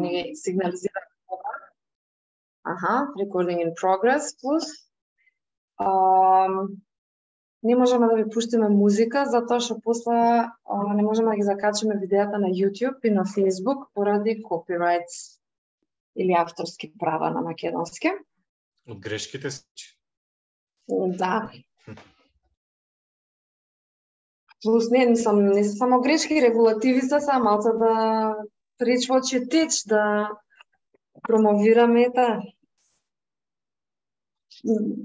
ни сигнализира. Recording in progress plus. Не можеме да ви пуштиме музика, затоа што после не можеме да ги закачиме видеата на YouTube и на Facebook поради copyrights или авторски права на македонски. Од грешките си? Да. Плюс не само грешки, регулативи се малце да reach what you teach, да промовираме та.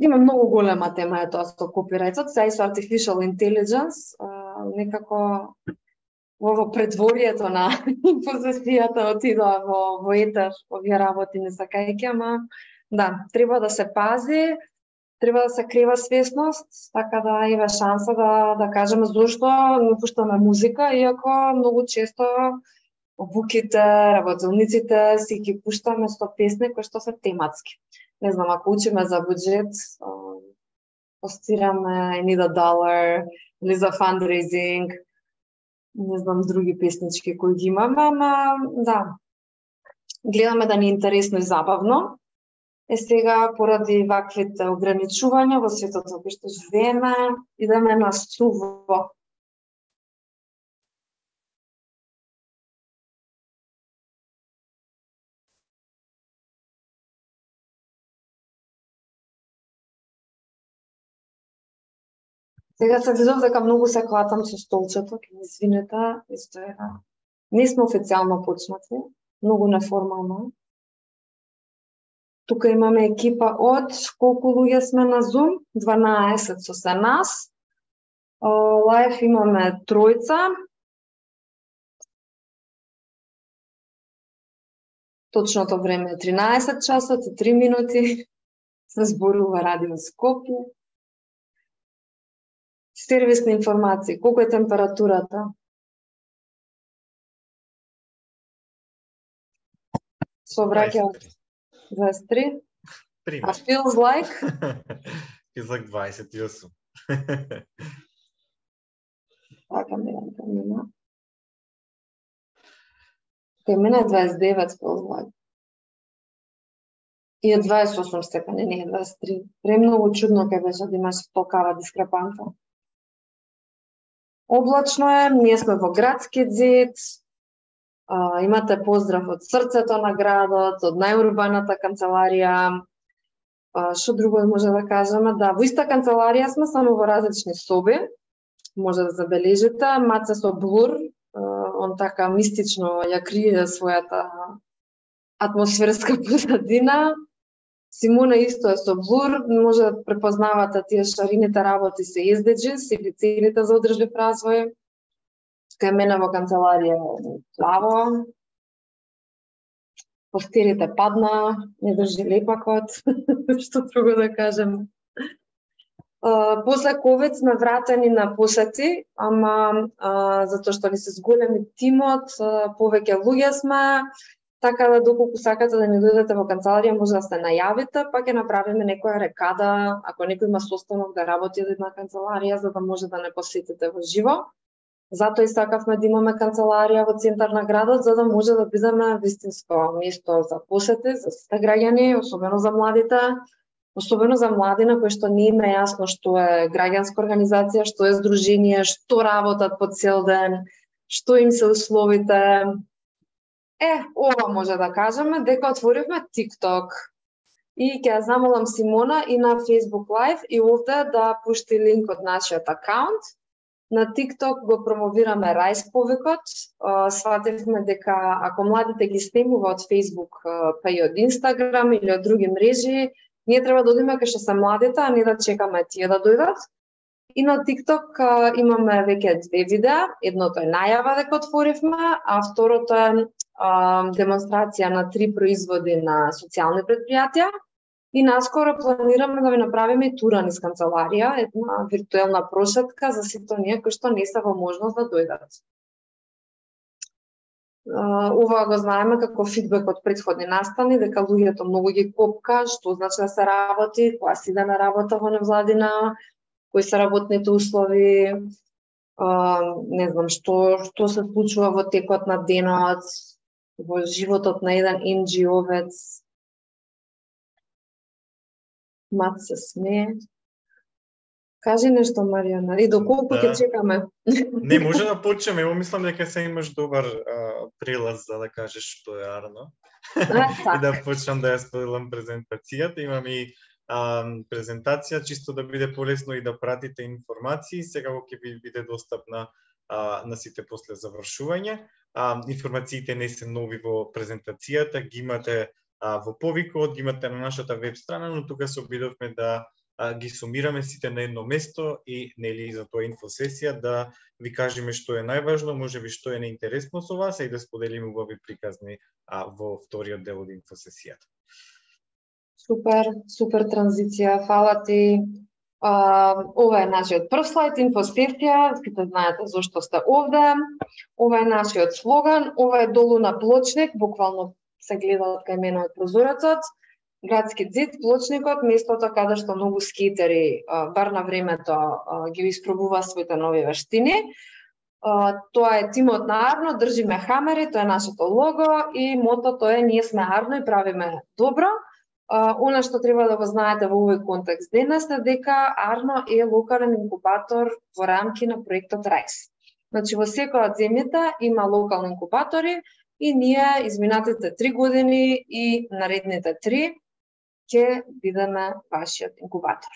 Има многу голема тема е тоа со копирајтот, сега и со artificial intelligence, некако во предворието на позицијата отидоа во етер, овие работи не сакајќи, ама да, треба да се пази, треба да се крива свесност, така да има шанса да кажеме зошто не пуштаме музика, иако многу често буките, работилниците си ги пуштаме со песни кои што се тематски. Не знам, ако учиме за буџет, постираме I Need a Dollar или за fundraising, не знам други песнички кои ги имаме, ама да, гледаме да ни е интересно и забавно. Сега, поради ваквите ограничувања во светот во кој што живееме, идеме на суво. Сега се видов дека многу се клатам со столчето, ќе ми извинете, исто е. Не сме официјално почнати, многу неформално. Тука имаме екипа од колку луѓе сме на Zoom? 12 со се нас. Лајф имаме тројца. Точното време е 13 часот и 3 минути. Се зборува Радио Скопје. Сервисни информации. Колку е температурата? Совраќа 23. А feels like? Feels like 28. Така мина. Кај мене е 29 feels like. И е 28 степени, не е 23. Премногу чудно кај беше да имаш толкава дискрепанца. Облачно е, ние сме во градски зид, имате поздрав од срцето на градот, од најурбаната канцеларија. Што друго може да кажеме? Да, во иста канцеларија сме, само во различни соби. Може да забележите, Маце со блур, он така мистично ја крие својата атмосферска позадина. Симона исто е со блур, може да препознавате тие шарините работи се SDGs или целите за одржлив развој. Кај мене во канцеларија плаво. Постерите падна, не држи лепакот, што друго да кажем. После COVID сме вратени на посети, ама затоа што ни се зголеми тимот, повеќе луѓе сме, така да доколку сакате да ни дојдете во канцеларија, може да се најавите, па ќе направиме некоја рекада, ако некој има состанок да работи на канцеларија, за да може да не посетите во живо. Затоа и сакавме да имаме канцеларија во центар на градот, за да може да бидеме вистинско место за посети, за сите граѓани, особено за младите, особено за млади на кои што не им е јасно што е граѓанска организација, што е здружение, што работат по цел ден, што им се условите. Ова може да кажеме дека отворивме TikTok. И ќе ја замолам Симона и на Facebook Live и овде да пушти линк од нашиот акаунт. На TikTok го промовираме Рајс повикот. Свативме дека ако младите ги снемува од Facebook, па и од Instagram или од други мрежи, ние треба да одиме кај што се младите, а не да чекаме тие да дојдат. И на TikTok имаме веќе 2 видеа. Едното е најава дека отворивме, а второто е демонстрација на 3 производи на социјални предпријатија. И наскоро планираме да ви направиме и тура низ канцеларија, една виртуелна прошетка за сите оние кои што не се во можност да дојдат. Ова го знаеме како фидбек од претходни настани, дека луѓето многу ги копка, што значи да се работи, кога се иде на работа во невладина, кои се работните услови, не знам што се случува во текот на денот, во животот на еден NGO-вец. Мат се смее. Кажи нешто, Маријана, и доколку ќе чекаме? Не, може да почнеме. Ево мислам дека се имаш добар прелаз за да кажеш што е Арно. И да почнам да ја споделам презентацијата. Имам и презентација, чисто да биде полесно и да пратите информации. Сега ќе ви биде достапна на сите после завршување. Информациите не се нови во презентацијата, ги имате во повикот, ги имате на нашата веб страна, но тука се обидовме да ги сумираме сите на едно место и нели за тоа инфосесија да ви кажеме што е најважно, можеби што е неинтересно со вас и да споделиме убави приказни во вториот дел од инфосесијата. Супер транзиција, фала ти. Ова е нашиот прв слайд, инфосесија, сите знаете зошто сте овде. Ова е нашиот слоган, ова е долу на плочник, буквално се гледа од кај мене од прозорецот. Градски зид, плочникот, местото каде што многу скейтери, бар на времето, ги испробува своите нови вештини. Тоа е тимот на Арно, држиме хамери, тоа е нашето лого и мотото е ние сме Арно и правиме добро. Она што треба да го знаете во овој контекст денес е дека Арно е локален инкубатор во рамки на проектот RISE. Значи во секоја од земјите има локални инкубатори и ние изминатите 3 години и наредните 3 ќе бидеме вашиот инкубатор.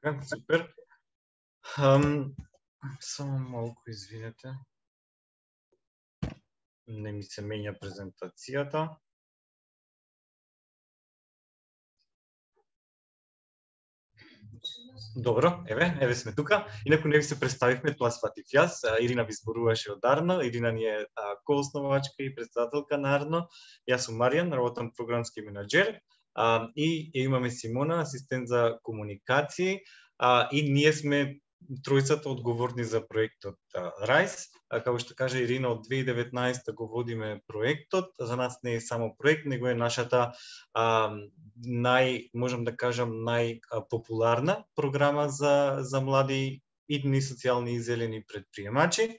Така, супер. Само малку извинете. Не ми се менја презентацијата. Добро, еве сме тука. Инаку не ви се представивме, тоа сватив јас. Ирина ви зборуваше од Арно. Ирина ни е коосновачка и председателка на Арно. Јас сум Маријан, работам програмски менаџер. И имаме Симона, асистент за комуникации. И ние сме тројцата одговорни за проектот RISE. Како што кажа Ирина, од 2019 го водиме проектот. За нас не е само проект, него е нашата можам да кажам, најпопуларна програма за млади идни социјални и зелени предприемачи.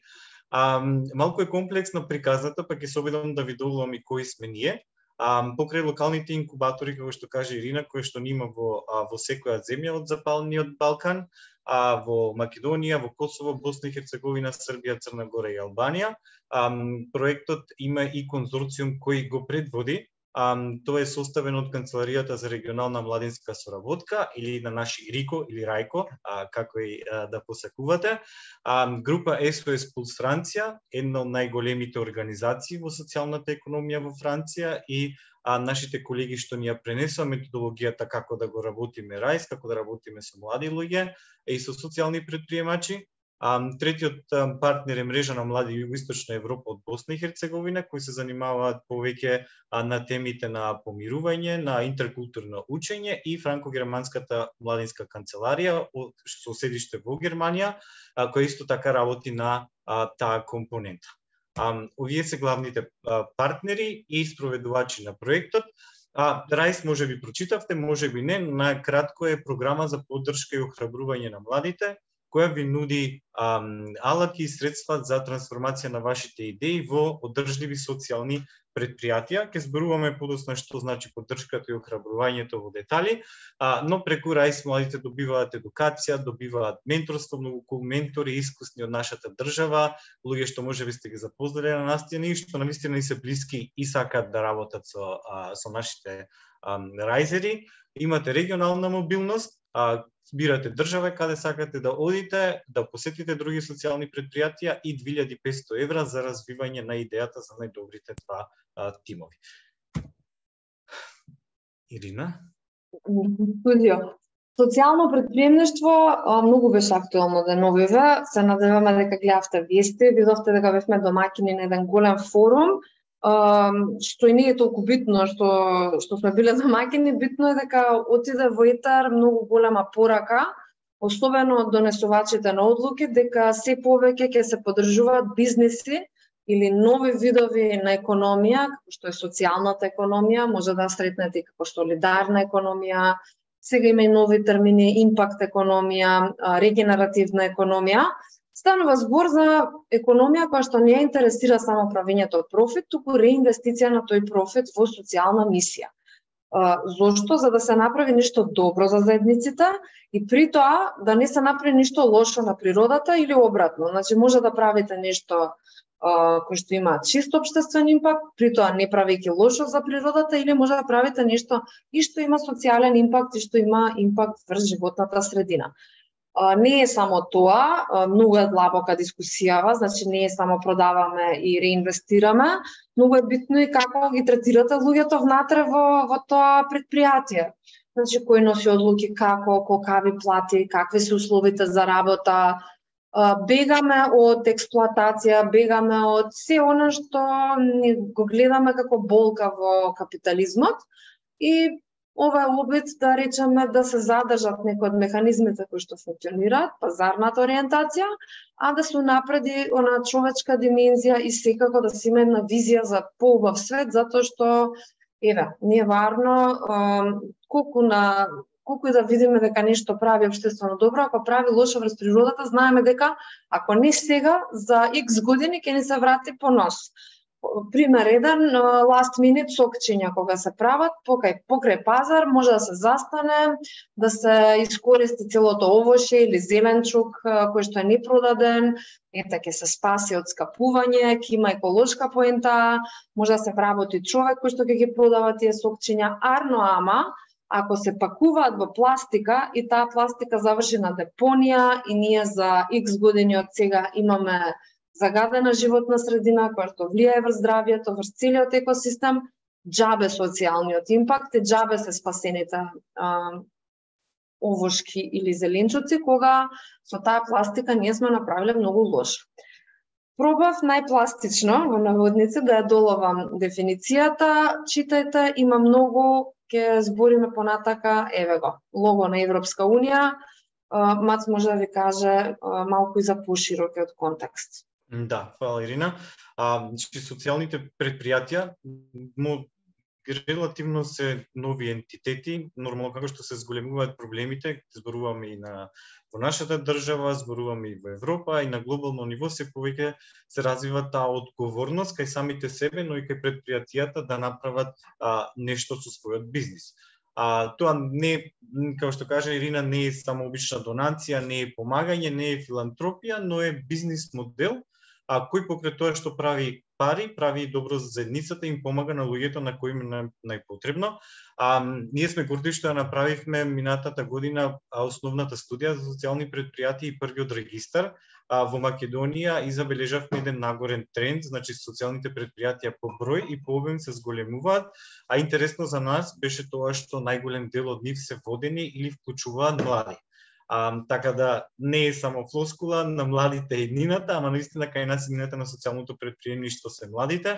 Малку е комплексно приказната, па ќе се обидам да ви долувам и кои сме ние. Покрај локалните инкубатори, како што каже Ирина, кои што нима во секоја земја од Западниот Балкан, во Македонија, во Косово, Босна и Херцеговина, Србија, Црна Гора и Албанија. Проектот има и конзорциум кој го предводи. Тоа е составено од Канцеларијата за регионална младинска соработка или на наши РИКО или РАЙКО, како и да посакувате. Група SOS Plus Франција, една од најголемите организации во социјалната економија во Франција и нашите колеги што ни ја пренесува методологијата како да го работиме RISE, како да работиме со млади луѓе и со социјални предприемачи. Третиот партнер е мрежа на млади југоисточна Европа од Босна и Херцеговина, кои се занимаваат повеќе на темите на помирување, на интеркултурно учење и франко-германската младинска канцеларија со седиште во Германија, која исто така работи на таа компонента. Овие се главните партнери и спроведувачи на проектот. RISE може би прочитавте, може би не, најкратко е програма за поддршка и охрабрување на младите, која ви нуди алаки и средства за трансформација на вашите идеи во одржливи социјални предпријатија. Ке зборуваме подоцна што значи поддршката и охрабрувањето во детали, но преку RISE младите добиваат едукација, добиваат менторство, многу ментори искусни од нашата држава, луѓе што можеби сте ги запознали на настина и што навистина ни се блиски и сакаат да работат со нашите рајзери. Имате регионална мобилност, збирате држава каде сакате да одите, да посетите други социјални предпријатија и 2500 евра за развивање на идејата за најдобрите два тимови. Ирина? Студио. Социјално предприемништво многу беше актуелно деновиве. Се надеваме дека гледавте вести, видовте дека бевме домаќини на еден голем форум, што и не е толку битно што сме биле домаќини, битно е дека отиде во етер многу голема порака, особено од донесувачите на одлуки, дека се повеќе ќе се поддржуваат бизнеси или нови видови на економија, како што е социјалната економија, може да сретнете како солидарна економија, сега има и нови термини, импакт економија, регенеративна економија. Станува збор за економија која што не ја интересира само правењето профит, туку реинвестиција на тој профит во социјална мисија. Зошто? За да се направи нешто добро за заедниците и при тоа да не се направи нешто лошо на природата или обратно. Значи може да правите нешто кој што има чист општествен импакт, при тоа не правејќи лошо за природата, или може да правите нешто и што има социјален импакт и што има импакт врз животната средина. Не е само тоа, многу е длабока дискусијава, значи не е само продаваме и реинвестираме, многу е битно и како ги третирате луѓето внатре во тоа предпријатие. Значи кој носи одлуки како, колкави плати, какви се условите за работа. Бегаме од експлоатација, бегаме од се она што го гледаме како болка во капитализмот и ова е обид да речеме да се задржат некои од механизмите кои што функционираат, пазарната ориентација, а да се унапреди она човечка димензија и секако да се има една визија за поубав свет, затоа што не е варно колку и да видиме дека нешто прави општествено добро, ако прави лошо врз природата, знаеме дека ако не сега, за X години ќе ни се врати по нос. Пример еден, last minute сокчиња кога се прават покрај пазар, може да се застане, да се искористи целото овоше или зеленчук кој што е непродаден, ќе се спаси од скапување, ќе има еколошка поента, може да се вработи човек кој што ќе ги продава тие сокчиња, ама ако се пакуваат во пластика и таа пластика заврши на депонија и ние за X години од сега имаме загадена животна средина која што влијае врз здравјето, врз целиот екосистем, џабе социјалниот импакт и џабе се спасените овошки или зеленчуци, кога со таа пластика ние сме направиле многу лошо. Пробав најпластично во наводници да ја доловам дефиницијата, читајте, има многу, ќе збориме понатака, еве го, лого на Европска Унија, Мац може да ви каже малку и за поширокиот контекст. Да, фала Ирина. Социјалните предпријатија релативно се нови ентитети, нормално како што се зголемуваат проблемите, зборуваме и во нашата држава, зборуваме и во Европа, и на глобално ниво се повеќе се развива таа одговорност кај самите себе, но и кај предпријатијата да направат нешто со својот бизнис. Тоа не, како што кажа Ирина, не е само обична донација, не е помагање, не е филантропија, но е бизнис модел, кој покрај тоа што прави пари, прави добро за заедницата и им помага на луѓето на кои им е најпотребно. Ние сме горди што ја направивме минатата година основната студија за социјални предпријатија и првиот регистар во Македонија и забележавме еден нагорен тренд, значи социјалните предпријатија по број и по обем се зголемуваат, а интересно за нас беше тоа што најголем дел од нив се водени или вклучуваат млади. Така да не е само флоскула на младите еднината, ама наистина кај нас еднината на социјалното претприемништво се младите,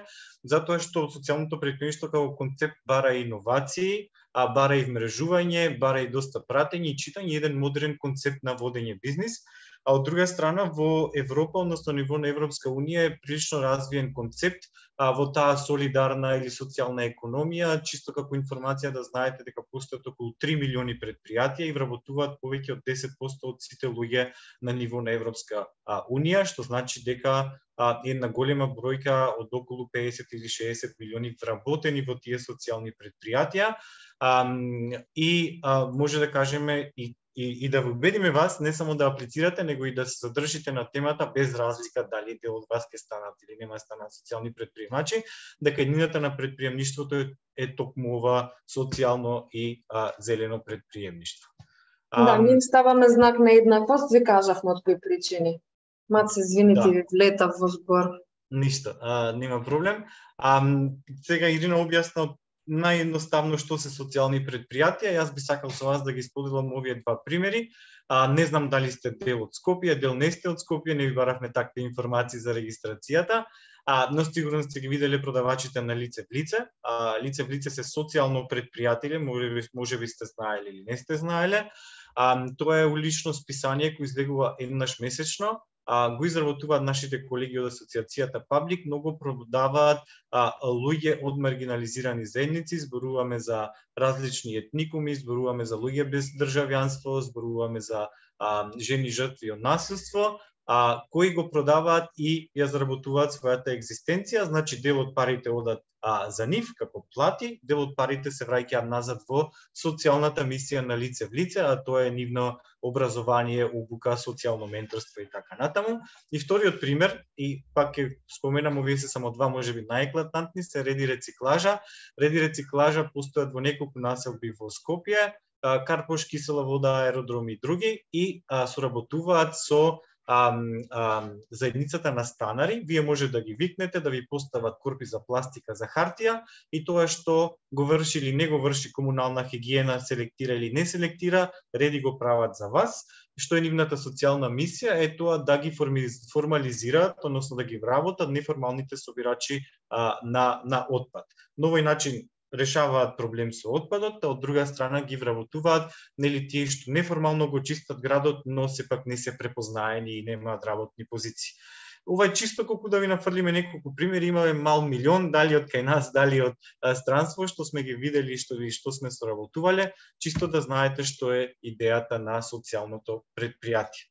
затоа што социјалното претприемништво како концепт бара иновации, бара и вмрежување, бара и доста пратење и читање, еден модерен концепт на водење бизнис. А од друга страна, во Европа, односно ниво на Европска Унија е прилично развиен концепт во таа солидарна или социјална економија, чисто како информација да знаете дека постојат околу 3 милиони предпријатија и вработуваат повеќе од 10% од сите луѓе на ниво на Европска Унија, што значи дека една голема бројка од околу 50 или 60 милиони вработени во тие социјални предпријатија и може да кажеме и да ви убедиме вас не само да аплицирате, него и да се задржите на темата без разлика дали дел од вас ќе станат или нема станат социјални предприемачи, дека еднината на предприемништвото е токму ова социјално и зелено предприемништво. Да, ние ставаме знак на еднаквост, ви кажавме од кои причини. Маце, извините, ви влетав во збор. Ништо, нема проблем. Сега Ирина објасна наједноставно што се социјални предпријатија. Јас би сакал со вас да ги споделам овие два примери. Не знам дали сте дел од Скопје, дел не сте од Скопје, не ви баравме такви информации за регистрацијата, но сигурно сте ги виделе продавачите на Лице в лице. Лице в лице се социјално предпријатие, може би сте знаеле или не сте знаеле. Тоа е улично списание кој излегува еднаш месечно. Го изработуваат нашите колеги од асоциацијата Паблик, многу продаваат луѓе од маргинализирани заедници, зборуваме за различни етникуми, зборуваме за луѓе без државјанство, зборуваме за жени жртви од насилство, кои го продаваат и ја заработуваат својата екзистенција, значи дел од парите одат за нив како плати, дел од парите се враќаат назад во социјалната мисија на лице в лице, а тоа е нивно образование, обука, социјално менторство и така натаму. И вториот пример, и пак ќе споменам, овие се само два можеби најеклатантни, се Реди рециклажа. Реди рециклажа постојат во неколку населби во Скопје, Карпош, Кисела вода, аеродроми и други, и соработуваат со заедницата на станари. Вие може да ги викнете да ви постават корпи за пластика, за хартија, и тоа што го врши или не го врши комунална хигиена, селектира или не селектира, Реди го прават за вас. Што е нивната социјална мисија е тоа да ги формализираат, односно да ги вработат неформалните собирачи на отпад. На овој начин решаваат проблем со отпадот, а од друга страна ги вработуваат нели тие што неформално го чистат градот, но сепак не се препознаени и немаат работни позиции. Ова е чисто колку да ви нафрлиме неколку примери, имаме мал милион, дали од кај нас, дали од странство, што сме ги видели и што сме соработувале, чисто да знаете што е идејата на социјалното предпријатие.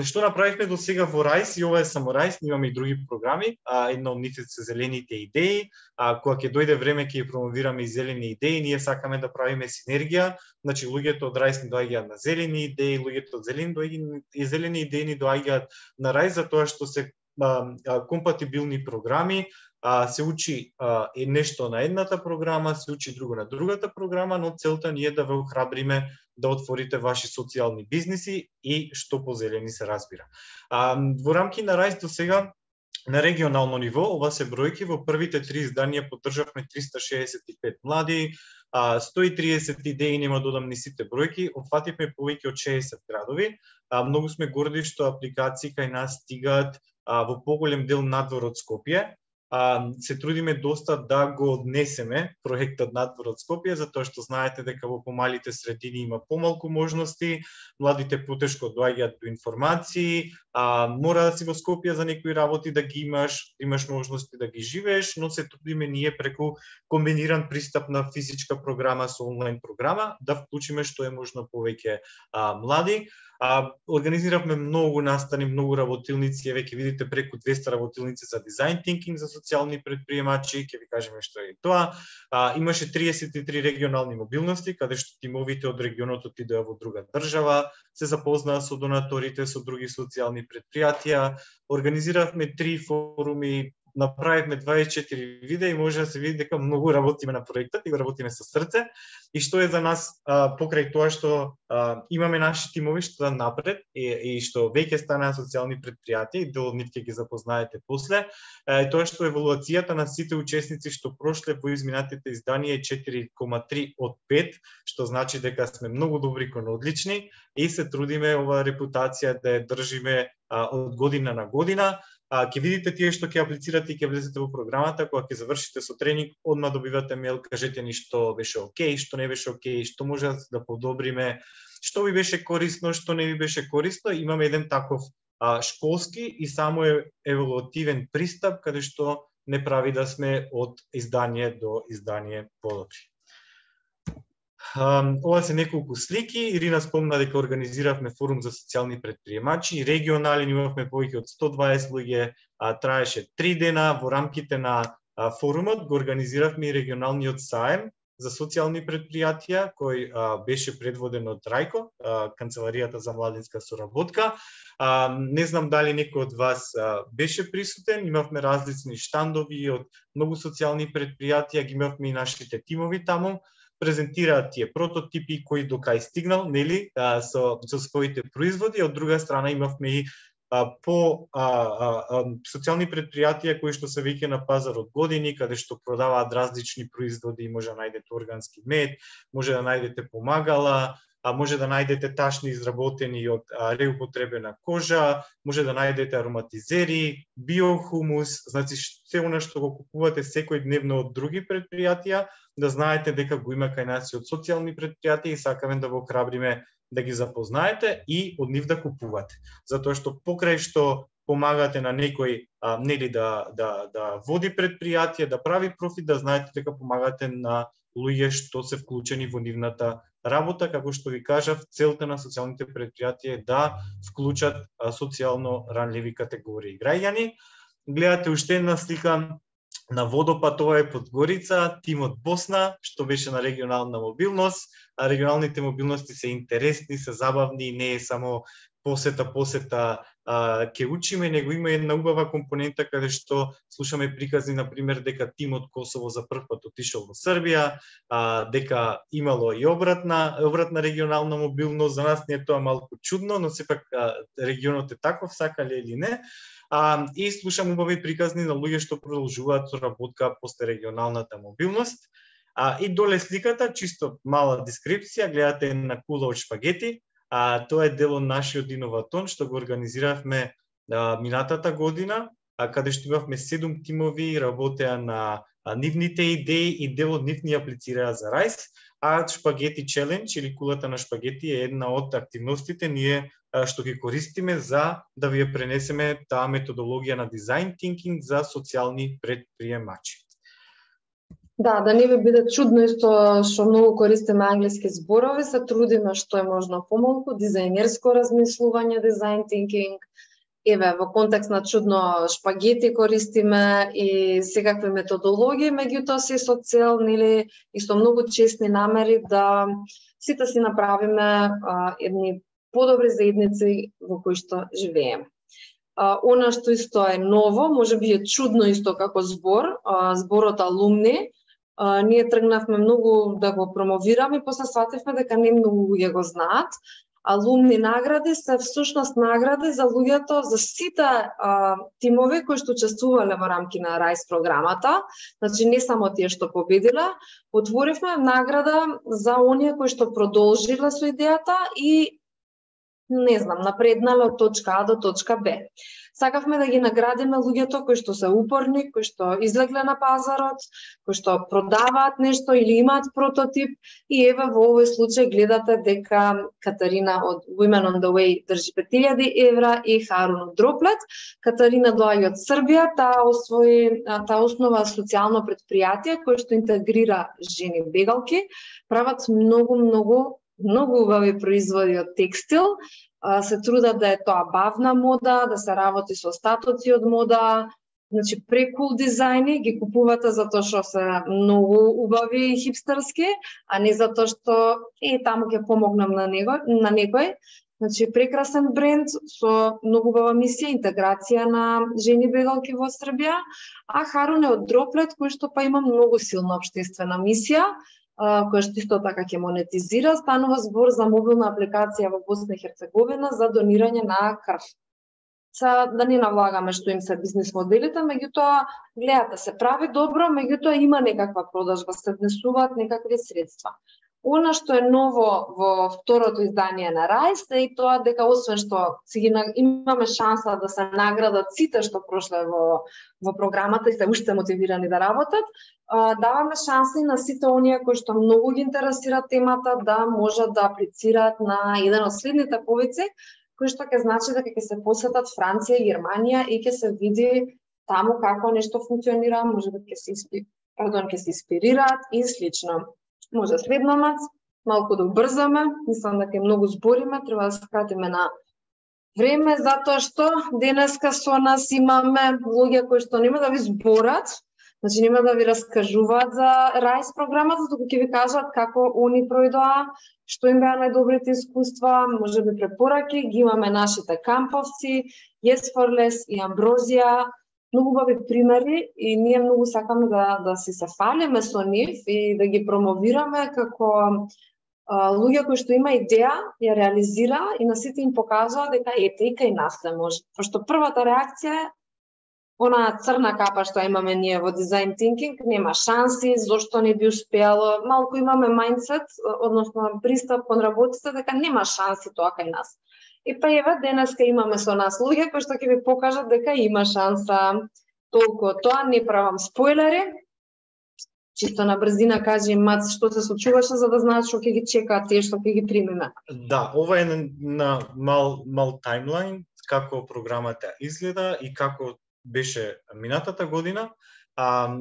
Што направивме до сега во Рајс, и ова е само Рајс, имаме и други програми, една од нив се зелените идеи, кога ќе дојде време ќе промовираме и зелени идеи, ние сакаме да правиме синергија, значи луѓето од Рајс ни доаѓаат на зелени идеи, луѓето од зелени идеи ни доаѓаат на Рајс, затоа што се компатибилни програми, се учи нешто на едната програма, се учи друго на другата програма, но целта ни е да ве охрабриме да отворите ваши социјални бизниси и што по зелени се разбира. Во рамки на Рајс до сега на регионално ниво, ова се бројки, во првите 3 изданија поддржавме 365 млади, 130 идеи, нема додам ни сите бројки, опфативме повеќе од 60 градови. Многу сме горди што апликации кај нас стигаат во поголем дел надвор од Скопје. Се трудиме доста да го однесеме проектот надвор од Скопје, затоа што знаете дека во помалите средини има помалку можности, младите потешко доаѓаат до информации, мора да си во Скопје за некои работи да ги имаш можности да ги живееш, но се трудиме ние преку комбиниран пристап на физичка програма со онлайн програма да вклучиме што е можно повеќе млади. Организиравме многу настани, многу работилници, веќе видите преку 200 работилници за дизајн тинкинг за социјални предприемачи, ќе ви кажеме што е тоа. Имаше 33 регионални мобилности, каде што тимовите од регионот отидоа во друга држава, се запознаа со донаторите, со други социјални предпријатија. Организиравме 3 форуми, направивме 24 видеа и може да се види дека многу работиме на проектот и го работиме со срце. И што е за нас покрај тоа што имаме наши тимови што да напред и што веќе станаа социјални предпријатија и дел од нив ќе ги запознаете после, тоа што евалуацијата на сите учесници што прошле по изминатите изданија е 4,3 од 5, што значи дека сме многу добри кон одлични и се трудиме оваа репутација да ја држиме од година на година. Ќе видите тие што ќе аплицирате и ќе влезете во програмата, кога ќе завршите со тренинг, одма добивате мејл, кажете ни што беше окей, што не беше окей, што може да подобриме, што ви беше корисно, што не ви беше корисно. Имаме еден таков школски и само еволутивен пристап, каде што не прави да сме од издание до издание подобри. Ова се неколку слики. Ирина спомна дека организиравме форум за социјални предприемачи. Регионален имавме повеќе од 120 луѓе, траеше 3 дена. Во рамките на форумот го организиравме и регионалниот саем за социјални предпријатија, кој беше предводен од Рајко, Канцеларијата за младинска соработка. Не знам дали некој од вас беше присутен, имавме различни штандови од многу социјални предпријатија, ги имавме и нашите тимови таму, презентираат тие прототипи кои до кај стигнал, нели, со своите производи. Од друга страна имавме и по социјални предпријатија кои што се веќе на пазар од години, каде што продаваат различни производи, може да најдете органски мед, може да најдете помагала, може да најдете ташни изработени од реупотребена кожа, може да најдете ароматизери, биохумус, значи се она што го купувате секојдневно од други предпријатија, да знаете дека го има кај нас и од социјални предпријатија и сакаме да го храбриме да ги запознаете и од нив да купувате. Затоа што покрај што помагате на некој нели да води предпријатие, да прави профит, да знаете дека помагате на луѓе што се вклучени во нивната работа, како што ви кажав, целта на социјалните претпријатија е да вклучат социјално ранливи категории граѓани. Гледате уште една слика на водопад, ова е Подгорица, тимот Босна, што беше на регионална мобилност. Регионалните мобилности се интересни, се забавни, не е само посета, ќе учиме, него има една убава компонента каде што слушаме приказни, например, дека тимот Косово за прв пат отишол во Србија, дека имало и обратна регионална мобилност. За нас не е тоа малку чудно, но сепак регионот е таков, сакале или не. И слушам убави приказни на луѓе што продолжуваат соработка после регионалната мобилност. И доле сликата, чисто мала дескрипција, гледате една кула од шпагети. Тоа е дел од нашиот иноватон што го организиравме минатата година, каде што имавме 7 тимови, работеа на нивните идеи и дел од нив ни аплицираа за Райс. Шпагети челендж или кулата на шпагети е една од активностите ние што ги користиме за да ви ја пренесеме таа методологија на дизајн тинкинг за социјални предприемачи. Да не ви биде чудно исто што многу користиме англиски зборови, се трудиме што е можно помалку, дизајнерско размислување, дизајн тинкинг. Еве, во контекст на чудно шпагети користиме и секакви методологии, меѓутоа се со цел, нели, и со многу честни намери да сите си направиме едни подобри заедници во кои што живееме. Она што исто е ново, можеби е чудно исто како збор, зборот алумни, ние тргнавме многу да го промовираме и после свативме дека не многу луѓе го знаат. Алумни награди се всушност награди за луѓето, за сите тимови кои што учествувале во рамки на Райс програмата, значи не само тие што победиле. Отворивме награда за оние кои што продолжиле со идејата и напреднале од точка А до точка Б. Сакавме да ги наградиме луѓето кои што се упорни, кои што излегле на пазарот, кои што продаваат нешто или имаат прототип. И еве во овој случај гледате дека Катарина од Women on the Way држи 5000 евра и Харун од Дроплет. Катарина доаѓа од Србија, таа основа социјално предпријатие кое што интегрира жени бегалки, прават многу убави производи од текстил. Се трудат да е тоа бавна мода, да се работи со остатоци од мода, значи прекул дизајни, ги купувате затоа што се многу убави и хипстерски, а не затоа што таму ќе помогнам на некој. Значи прекрасен бренд со многу убава мисија, интеграција на жени бегалки во Србија, а Харун е од Дроплет кој што па има многу силна општествена мисија, која што исто така ќе монетизира. Станува збор за мобилна апликација во Босна и Херцеговина за донирање на крв. Да не навлагаме што им се бизнис моделите, меѓутоа гледате се прави добро, меѓутоа има некаква продажба, се внесуваат некакви средства. Она што е ново во второто издание на Райс е и тоа дека освен што имаме шанса да се наградат сите што прошле во програмата и се уште мотивирани да работат, даваме шанси на сите оние кои што многу ги интересира темата да можат да аплицираат на еден од следните повици, кои што ќе значи дека ќе се посетат Франција, Германија и ќе се види таму како нешто функционира, можеби ќе се инспирираат и слично. Може следномац, малку да убрзаме, мислам дека многу збориме, треба да скратиме на време, затоа што денеска со нас имаме луѓе кои што нема да ви зборат, значи нема да ви раскажуваат за Райс програмата, туку ќе ви кажат како они пројдоа, што им беа најдобрите искуства, можеби препораки, ги имаме нашите камповци, Yes for Less и Амброзија, многу убави примери и ние многу сакаме да си се фалиме со нив и да ги промовираме како луѓе кои што има идеја, ја реализира и на сите им покажува дека ете и кај нас се може. Пошто првата реакција е она црна капа што имаме ние во дизајн тинкинг, нема шанси, зошто не би успеало, малку имаме мајндсет, односно пристап кон работите дека нема шанси тоа кај нас. И па еве денеска имаме со нас луѓе кои што ќе ви покажат дека има шанса. Толку тоа, не правам спойлери. Чисто на брзина кажи Мац што се случуваше за да знаат што ќе ги чекаат тие што ќе ги примиме. Да, ова е на мал таймлайн како програмата изгледа и како беше минатата година.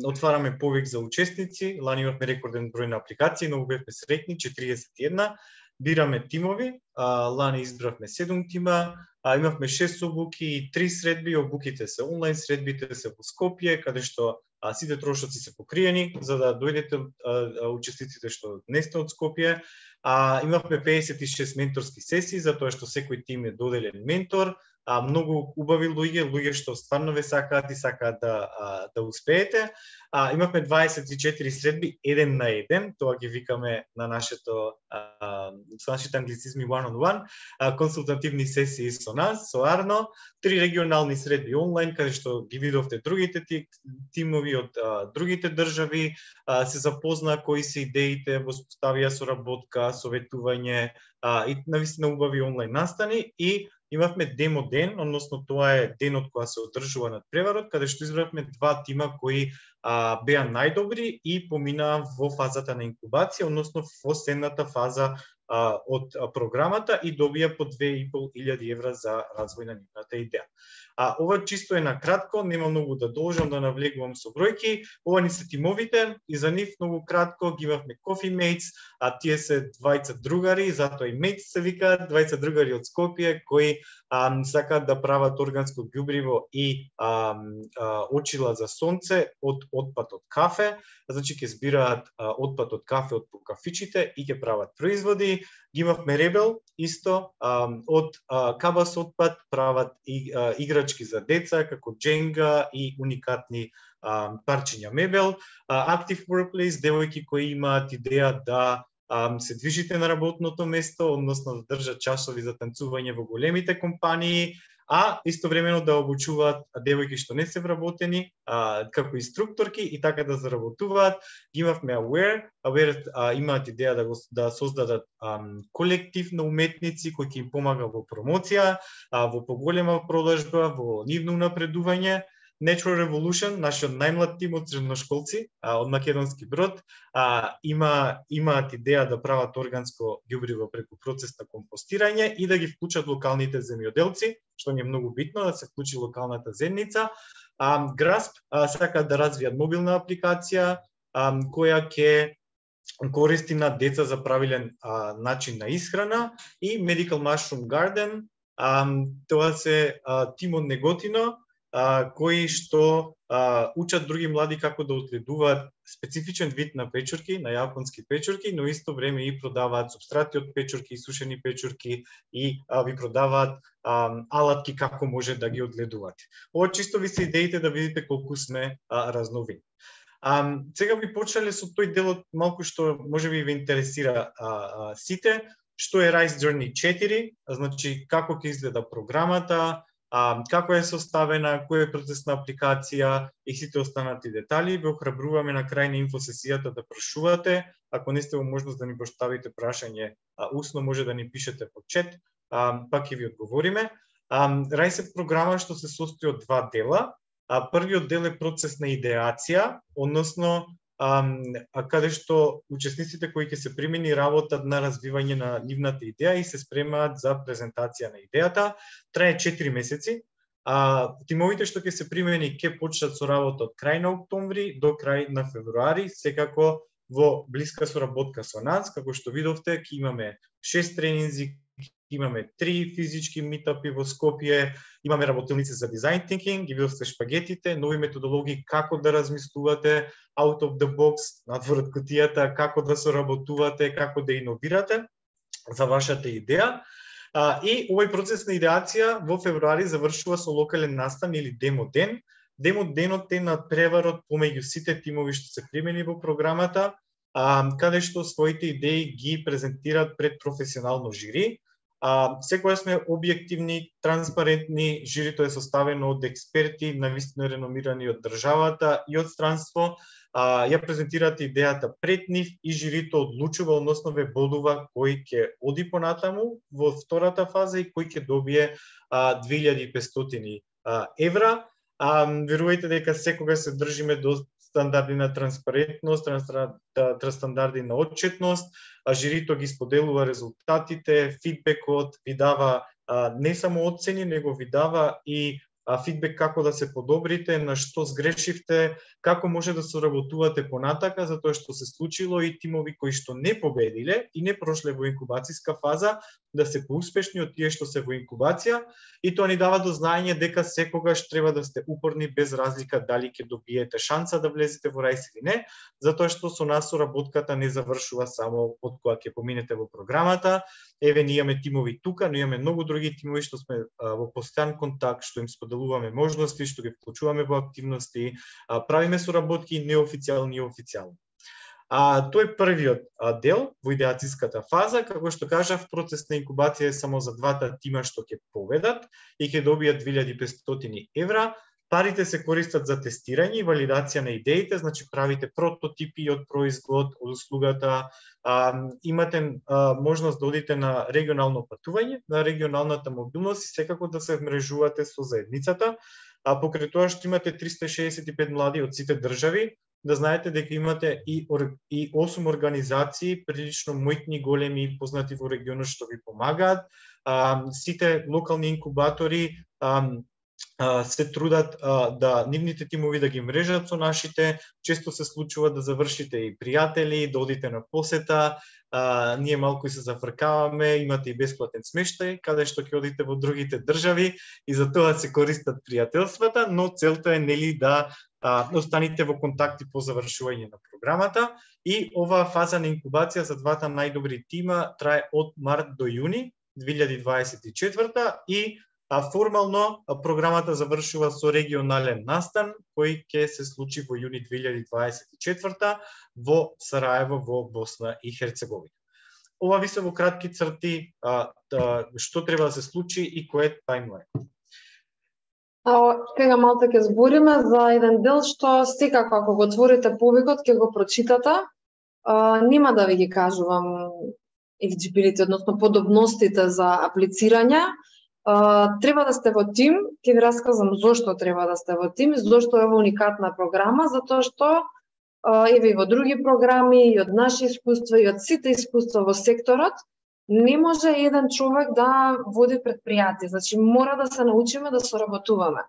Отвараме повик за учесници, лани имавме рекорден број на апликации, но бевме среќни, 41. Бираме тимови, лани избравме 7 тима, имавме 6 обуки и 3 средби, обуките се онлайн, средбите се во Скопје, каде што сите трошоци се покриени, за да дојдете учесниците што не сте од Скопје. Имавме 56 менторски сесии, затоа што секој тим е доделен ментор, многу убави луѓе што стварно ве сакаат и сакаат да успеете. Имавме 24 средби, 1 на 1, тоа ги викаме на нашите англицизми one-on-one, консултативни сесии со нас, со Арно, 3 регионални средби онлайн, каде што ги видовте другите тимови од другите држави, се запозна кои се идеите, воспоставија соработка, советување и навистина убави онлайн настани и имавме демо ден, односно тоа е денот кога се одржува надпреварот, каде што избравме 2 тима кои беа најдобри и поминаа во фазата на инкубација, односно во следната фаза од програмата и добија по 2.500 евра за развој на нивната идеја. Ова чисто е на кратко, нема многу да должам да навлегувам со бројки. Ова ни се тимовите и за нив многу кратко ги имавме Coffee Mates, тие се двајца другари, затоа и Mates се викаат, двајца другари од Скопје кои сакаат да прават органско ѓубриво и очила за сонце од отпад од кафе, значи ќе збираат отпад од кафе од по кафичите и ќе прават производи. Ги имавме Ребел, исто, од кабас отпад прават играчки за деца, како дженга и уникатни парчиња мебел. Active Workplace, девојки кои имаат идеја да се движите на работното место, односно да држат часови за танцување во големите компании, истовремено да обучуваат девојки што не се вработени како инструкторки и така да заработуваат. Ги имавме Aware имаат идеја да создадат колектив на уметници кој ќе им помага во промоција, во поголема продажба, во нивно унапредување. Natural Revolution, нашиот најмлад тим од средношколци од Македонски Брод, имаат идеја да прават органско ѓубриво преку процес на компостирање и да ги вклучат локалните земјоделци, што ни е многу битно да се вклучи локалната земјица. Grasp сакаат да развијат мобилна апликација која ќе користи на деца за правилен начин на исхрана и Medical Mushroom Garden, тоа се тим од Неготино, кои што учат други млади како да отледуваат специфичен вид на печурки, на јапонски печурки, но исто време и продаваат супстрати од печурки, сушени печурки и ви продаваат алатки како може да ги одледувате. Ова чисто ви се идеите да видите колку сме разновидни. Сега би почнале со тој делот малку што може би ве интересира сите, што е Rise Journey 4, значи како ќе изгледа програмата, како е составена, кој е процес на апликација и сите останати детали. Ве охрабруваме на крај на инфосесијата да прашувате. Ако не сте во можност да ни поставите прашање усно, може да ни пишете по чет, пак ќе ви одговориме. Rise е програма што се состои од 2 дела. Првиот дел е процес на идеација, односно каде што учесниците кои ќе се примени работат на развивање на нивната идеја и се спремаат за презентација на идејата. Трае 4 месеци. Тимовите што ќе се примени ќе почнат со работа од крај на октомври до крај на февруари, секако во блиска соработка со нас, како што видовте, ќе имаме 6 тренинзи, имаме 3 физички митапи во Скопје, имаме работилници за design thinking, ги видовте шпагетите, нови методологии како да размислувате out of the box, надвор од кутијата, како да соработувате, како да иновирате за вашата идеја. И овој процес на идеација во февруари завршува со локален настан или демо ден. Демо денот е надпреварот помеѓу сите тимови што се примени во програмата, каде што своите идеи ги презентираат пред професионално жири. Секоја сме објективни, транспарентни, жирито е составено од експерти, навистина реномирани од државата и од странство. Ја презентираат идејата пред нив и жирито одлучува, односно ве бодува кој ќе оди понатаму во втората фаза и кој ќе добие 2500 евра. Верувајте дека секогаш се држиме до стандарди на транспарентност, стандарди на отчетност, жирито ги споделува резултатите, фидбекот, ви дава не само оцени, него ви дава и фидбек како да се подобрите, на што сгрешивте, како може да соработувате понатака, затоа што се случило и тимови кои што не победиле и не прошле во инкубацијска фаза, да се поуспешни од тие што се во инкубација, и тоа ни дава до знаење дека секогаш треба да сте упорни без разлика дали ќе добиете шанса да влезете во РАИС или не, затоа што со нас соработката не завршува само од кога ќе поминете во програмата. Еве, ние имаме тимови тука, но имаме многу други тимови што сме во постојан контакт, што им споделуваме можности, што ги вклучуваме во активности, правиме соработки неофицијални и официјални. Тој е првиот дел во идеацијската фаза. Како што кажав, процес на инкубација е само за двата тима што ќе победат и ќе добијат 2500 евра. Парите се користат за тестирање и валидација на идеите, значи правите прототипи од производ, од услугата, имате можност да одите на регионално патување, на регионалната мобилност и секако да се вмрежувате со заедницата. Покрај тоа што имате 365 млади од сите држави, да знаете дека имате и 8 организации, прилично мојтни, големи и познати во регионот што ви помагаат. Сите локални инкубатори се трудат да нивните тимови да ги мрежат со нашите. Често се случува да завршите и пријатели, да одите на посета, ние малку и се зафркаваме, имате и бесплатен смештај, каде што ќе одите во другите држави и за тоа се користат пријателствата, но целта е нели да останите во контакти по завршување на програмата. И оваа фаза на инкубација за двата најдобри тима трае од март до јуни 2024 и формално програмата завршува со регионален настан кој ќе се случи во јуни 2024 во Сараево во Босна и Херцеговина. Ова ви се во кратки црти што треба да се случи и кој е тајмлајн. Сега малку ќе збориме за еден дел што секако ако го отворите повикот ќе го прочитате. Нема да ви ги кажувам елиджибилити, односно подобностите за аплицирање. Треба да сте во тим, ќе ви расказам зошто треба да сте во тим, зошто е ова уникатна програма, затоа што еве и во други програми, и од наши искуства, и од сите искуства во секторот, не може еден човек да води предпријатие. Значи, мора да се научиме да соработуваме.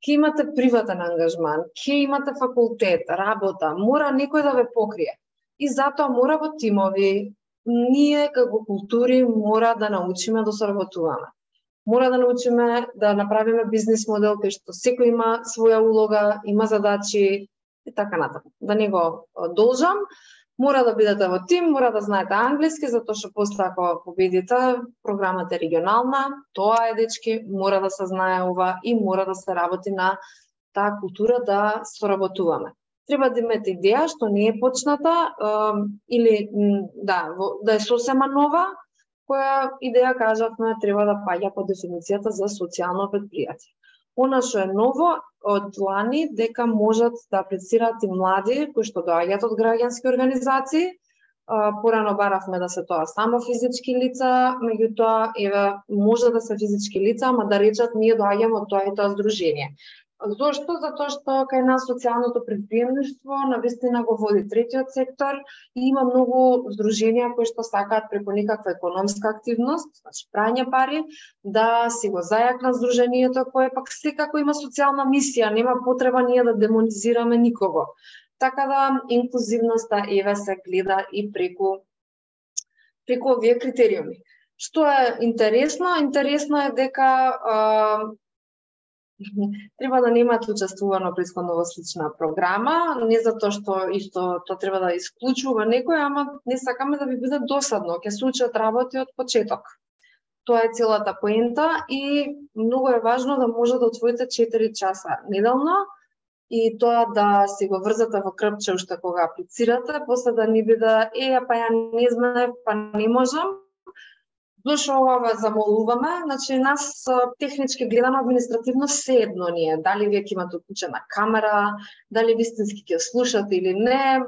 Ке имате приватен ангажман, ке имате факултет, работа, мора некој да ве покрие. И затоа мора во тимови, ние како култури мора да научиме да соработуваме. Мора да научиме да направиме бизнис модел кај што секој има своја улога, има задачи и така натаму. Да не го должам, мора да бидете во тим, мора да знаете англиски, затоа што после ако победите, програмата е регионална, тоа е дечки, мора да се знае ова и мора да се работи на таа култура да соработуваме. Треба да имате идеја што не е почната или да е сосема нова, која идеја, кажавме, треба да паѓа по дефиницијата за социјално предпријатие. Она што е ново од лани дека можат да аплицираат и млади кои што доаѓаат од граѓански организации. Порано баравме да се тоа само физички лица, меѓутоа еве може да се физички лица, ама да речат ние доаѓаме од тоа и тоа здружение. Зошто? Затоа што кај нас социјалното предприемништво навистина го води третиот сектор и има многу здруженија кои што сакаат преку некаква економска активност, значи прање пари, да си го зајакнат здружението кое пак секако има социјална мисија, нема потреба ние да демонизираме никого. Така да инклузивноста еве се гледа и преку овие критериуми. Што е интересно? Интересно е дека треба да немаат учествувано претходно во слична програма, не затоа што исто тоа треба да исклучува некој, ама не сакаме да ви биде досадно, ќе се учат работи од почеток. Тоа е целата поента и многу е важно да може да отвоите 4 часа неделно и тоа да си го врзате во крпче уште кога аплицирате, после да не биде па ја не знаев, па не можам. Зошто ова ве замолуваме? Значи, нас технички гледано, административно седно ни е. Дали вие ќе имате уклучена камера, дали вистински ќе слушате или не.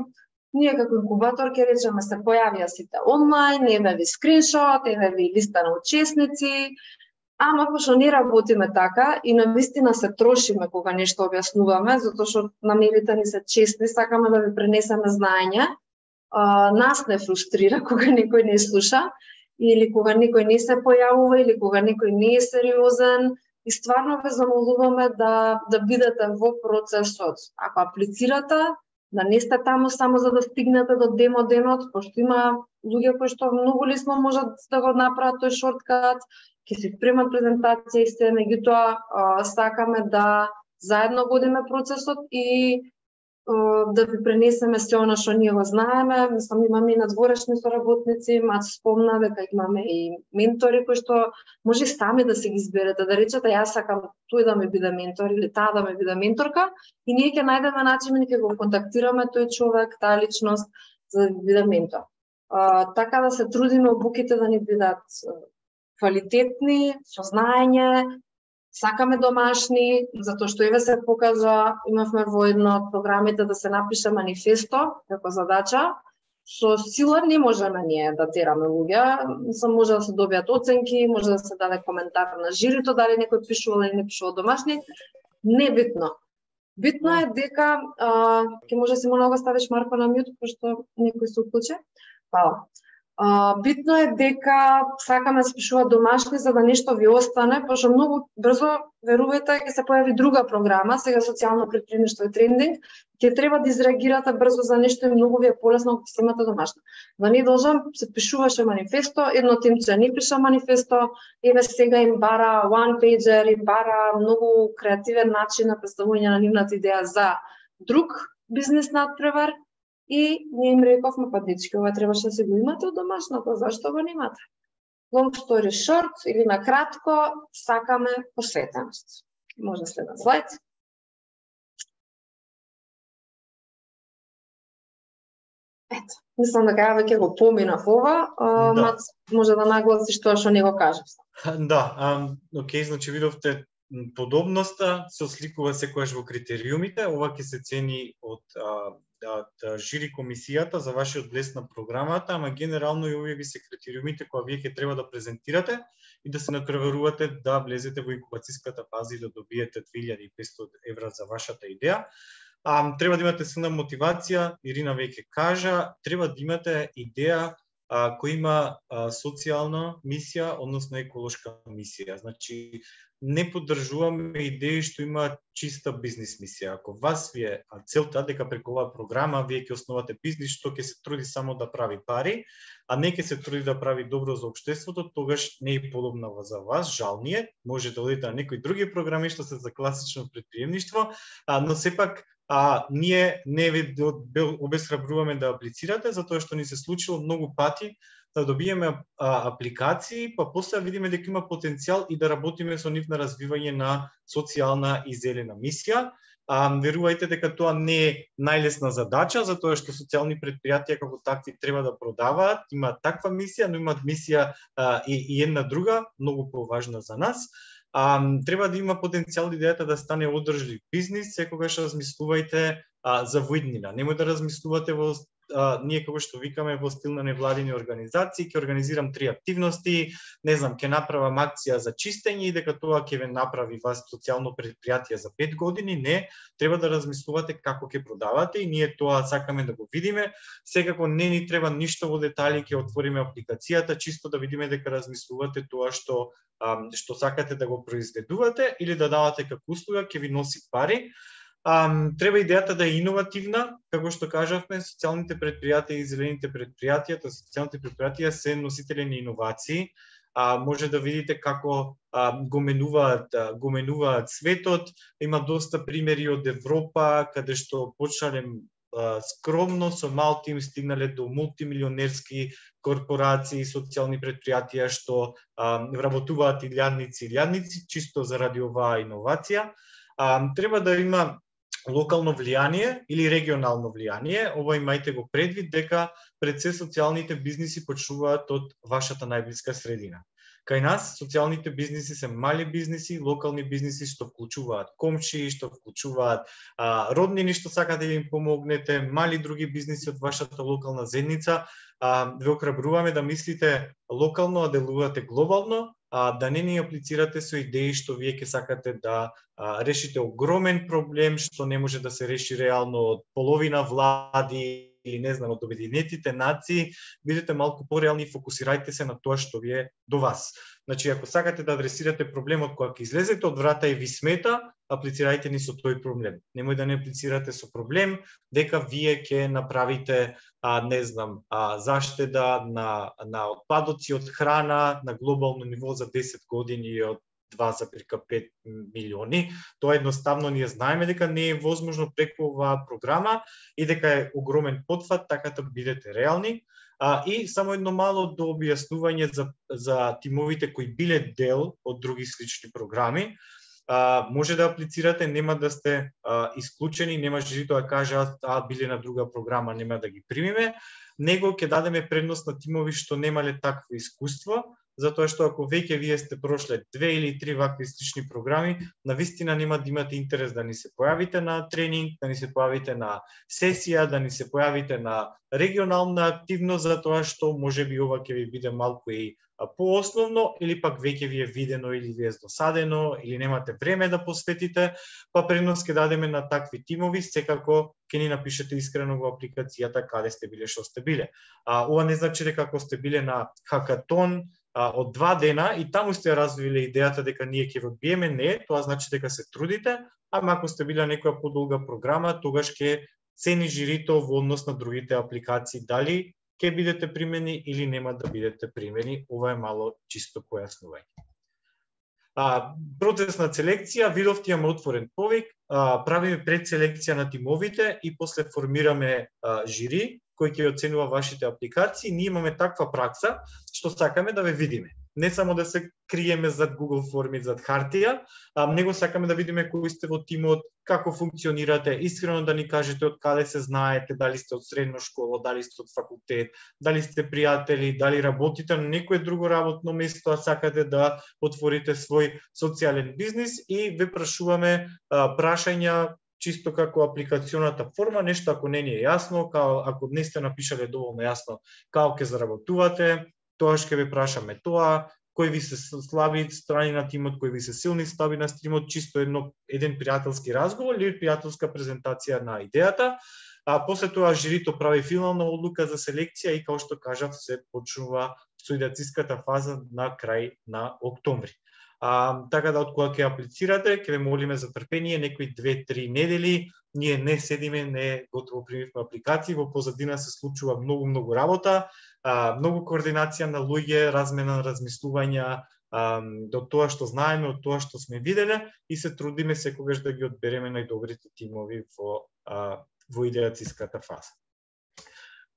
Ние како инкубатор ќе речеме се појавија сите онлайн, еве ви скриншот, еве ви листа на учесници, ама пошто не работиме така и навистина се трошиме кога нешто објаснуваме, затоа што намерите ни се честни, сакаме да ви пренесеме знаење. Нас не фрустрира кога некој не слуша, или кога некој не се појавува, или кога некој не е сериозен, и стварно ве замолуваме да бидете во процесот. Ако аплицирате, да не сте таму само за да стигнете до демо денот, пошто има луѓе кои што многу лесно можат да го направат тој шорткат, ќе си спремат презентација и се, меѓутоа сакаме да заедно водиме процесот и да ви пренесеме се она што ние го знаеме. Мислам, имаме и надворешни соработници, Мац спомна дека имаме и ментори кои што може сами да се ги изберете, да речете јас сакам тој да ми биде ментор или таа да ми биде менторка и ние ќе најдеме начин и ќе го контактираме тој човек, таа личност за да биде ментор. Така да се трудиме обуките да ни бидат квалитетни, со знаење, сакаме домашни, затоа што еве се покажа, имавме во едно од програмите да се напише манифесто како задача. Со сила не можеме ние да тераме луѓе, може да се добијат оценки, може да се даде коментар на жирито, дали некој пишувал или не пишувал домашни, небитно. Битно е дека, ќе може си моля да ставиш Марко на мјут, пошто некој се уклучи. Фала. Битно е дека сакаме да се пишува домашни за да нешто ви остане, пошто многу брзо, верувајте, ќе се појави друга програма, сега социјално претприемништво и трендинг, ќе треба да изреагирате брзо за нешто и многу ви е полесно ако ќе имате домашно. Да не должам се пишуваше манифесто, едно темче не пиша манифесто, еве сега им бара one pager, им бара многу креативен начин на представување на нивната идеја за друг бизнес надпревар. И ние им рековме, па дечки, ова требаше да се го имате од домашното, зашто го немате? Long story short, или на кратко, сакаме посветеност. Може следен слайд. Ето, мислам дека ја веќе го поминав ова, Мац може да нагласиш тоа што не го кажав. Да, окей, значи видовте подобноста се осликува секогаш во критериумите, ова ќе се цени од жири комисијата за вашиот блеск на програмата, ама генерално и овие ви се критериумите кои вие ќе треба да презентирате и да се натпреварувате да влезете во инкубацијската фаза и да добиете 2500 евра за вашата идеја. Треба да имате силна мотивација, Ирина веќе кажа, треба да имате идеја која има социјална мисија, односно еколошка мисија. Значи, не поддржуваме идеи што има чиста бизнес мисија. Ако вас ви е целта дека преку оваа програма вие ќе основате бизнес што ќе се труди само да прави пари, а не ќе се труди да прави добро за општеството, тогаш не е подобна за вас, жал ни е. Може да одите на некои други програми што се за класично претприемништво, но сепак ние не ви обесхрабруваме да аплицирате, затоа што ни се случило многу пати да добиеме апликации, па после видиме дека има потенцијал и да работиме со нив на развивање на социјална и зелена мисија. Верувајте дека тоа не е најлесна задача, затоа што социјални претпријатија како такви треба да продаваат, имаат таква мисија, но имаат мисија и една друга, многу поважна за нас. Треба да има потенцијал идејата да стане одржлив бизнис, секогаш размислувајте за воиднина. Немој да размислувате во ние како што викаме во стил на невладини организации, ќе организирам 3 активности, не знам, ќе направам акција за чистење и дека тоа ќе ве направи вас социјално претпријатие за 5 години. Не, треба да размислувате како ќе продавате и ние тоа сакаме да го видиме. Секако не ни треба ништо во детали, ќе отвориме апликацијата, чисто да видиме дека размислувате тоа што сакате да го произведувате или да давате како услуга, ќе ви носи пари. Треба идејата да е иновативна, како што кажавме, социјалните претпријатија и зелените претпријатија, социјалните претпријатија се носители на иновации. Може да видите како го менуваат светот. Има доста примери од Европа, каде што почнале скромно, со мал тим стигнале до мултимилионерски корпорации, социјални претпријатија што вработуваат илјадници, чисто заради оваа иновација. Треба да има локално влијание или регионално влијание. Ова имајте го предвид дека пред се социјалните бизниси почнуваат од вашата најблиска средина. Кај нас социјалните бизниси се мали бизниси, локални бизниси што вклучуваат комшии, што вклучуваат роднини што сакате да им помогнете, мали други бизниси од вашата локална заедница. Ве охрабруваме да мислите локално, а делувате глобално, да не ни аплицирате со идеи што вие ќе сакате да решите огромен проблем што не може да се реши реално од половина влади или не знам, од Обединетите нации, бидете малку пореални и фокусирајте се на тоа што ви е до вас. Значи, ако сакате да адресирате проблемот кога ќе излезете од врата и ви смета, аплицирајте ни со тој проблем. Немој да не аплицирате со проблем дека вие ќе направите не знам, заштеда на отпадоци од храна на глобално ниво за 10 години од 2,5 милиони. Тоа едноставно ние знаеме дека не е возможно преку оваа програма и дека е огромен потфат, така да бидете реални. И само едно мало до објаснување за тимовите кои биле дел од други слични програми. Може да аплицирате, нема да сте исклучени, нема жирито да каже биле на друга програма, нема да ги примиме, него ќе дадеме предност на тимови што немале такво искуство, затоа што ако веќе вие сте прошле 2 или 3 вакви слични програми, навистина нема да имате интерес да ни се појавите на тренинг, да ни се појавите на сесија, да ни се појавите на регионална активност, затоа што можеби ова ќе ви биде малку и поосновно, или пак веќе ви е видено или ви е досадено, или немате време да посветите, па предност ќе дадеме на такви тимови, секако ќе ни напишете искрено во апликацијата каде сте биле, што сте биле. Ова не значи дека ако сте биле на хакатон од 2 дена и таму сте развиле идејата дека ние ќе ви одбиеме, не, тоа значи дека се трудите, ама ако сте биле на некоја подолга програма, тогаш ќе цени жирито во однос на другите апликации, дали ќе бидете примени или нема да бидете примени. Ова е мало чисто појаснување. Процес на селекција, видовте имаме отворен повик, правиме предселекција на тимовите и после формираме жири кој ќе оценува вашите апликации. Ние имаме таква пракса што сакаме да ве видиме. Не само да се криеме зад Google форми, зад хартија, него сакаме да видиме кои сте во тимот, како функционирате, искрено да ни кажете од каде се знаете, дали сте од средна школа, дали сте од факултет, дали сте пријатели, дали работите на некое друго работно место, а сакате да отворите свој социјален бизнис, и ве прашуваме прашања чисто како апликационата форма, нешто ако не ни е јасно, ако не сте напишале доволно јасно како ќе заработувате, тоаш ќе ве прашаме тоа, кои ви се слаби страни на тимот, кои ви се силни страни на тимот, чисто еден пријателски разговор или пријателска презентација на идејата. После тоа жирито прави финална одлука за селекција и, како што кажав, се почнува соидациската фаза на крај на октомври. Така да, од кога ќе аплицирате, ќе ве молиме за трпение, некои 2-3 недели. Ние не седиме, не готово примивме апликации, во позадина се случува многу работа, многу координација на луѓе, размена на размислувања, до тоа што знаеме, од тоа што сме виделе, и се трудиме секогаш да ги одбереме најдобрите тимови во идеациската фаза.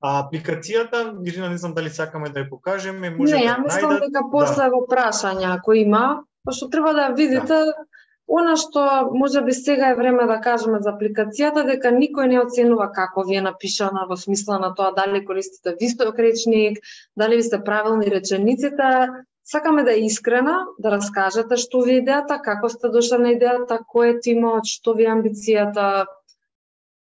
Апликацијата, Ирина, не знам дали сакаме да ја покажеме, може не, ја мислам дека после во прашања ако има, пошто треба да видите она што можеби сега е време да кажеме за апликацијата, дека никој не оценува како ви е напишана, во смисла на тоа дали користите висток речник, дали ви сте правилни речениците. Сакаме да е искрена, да раскажете што ви е идејата, како сте дошли на идејата, кој е тимот, што ви е амбицијата.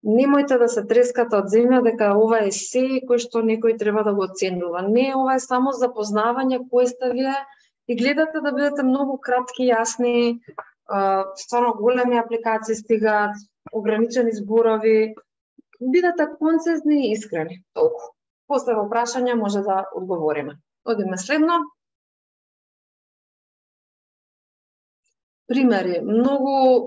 Немојте да се трескате од земја дека ова е се кој што некој треба да го оценува. Не, ова е само запознавање кој сте вие и гледате да бидете многу кратки, јасни, стварно големи апликации стигаат, ограничени зборови, бидете концизни и искрени. Толку. После во прашања може да одговориме. Одиме следно. Примери. Многу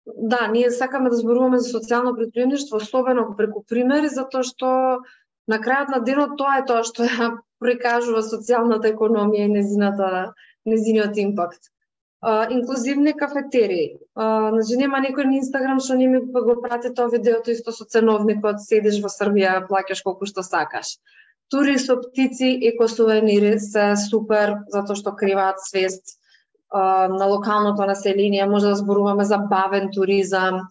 да, ние сакаме да зборуваме за социјално претприемништво, особено преку примери, затоа што на крајот на денот тоа е тоа што ја прикажува социјалната економија и незиниот импакт. Инклузивни кафетерии. Значи нема некој на Инстаграм што не ми го прати тоа видеото исто со ценовникот, седиш во Србија, плаќаш колку што сакаш. Тури со птици, екосувенири се супер затоа што криваат свест на локалното население. Може да зборуваме за бавен туризам,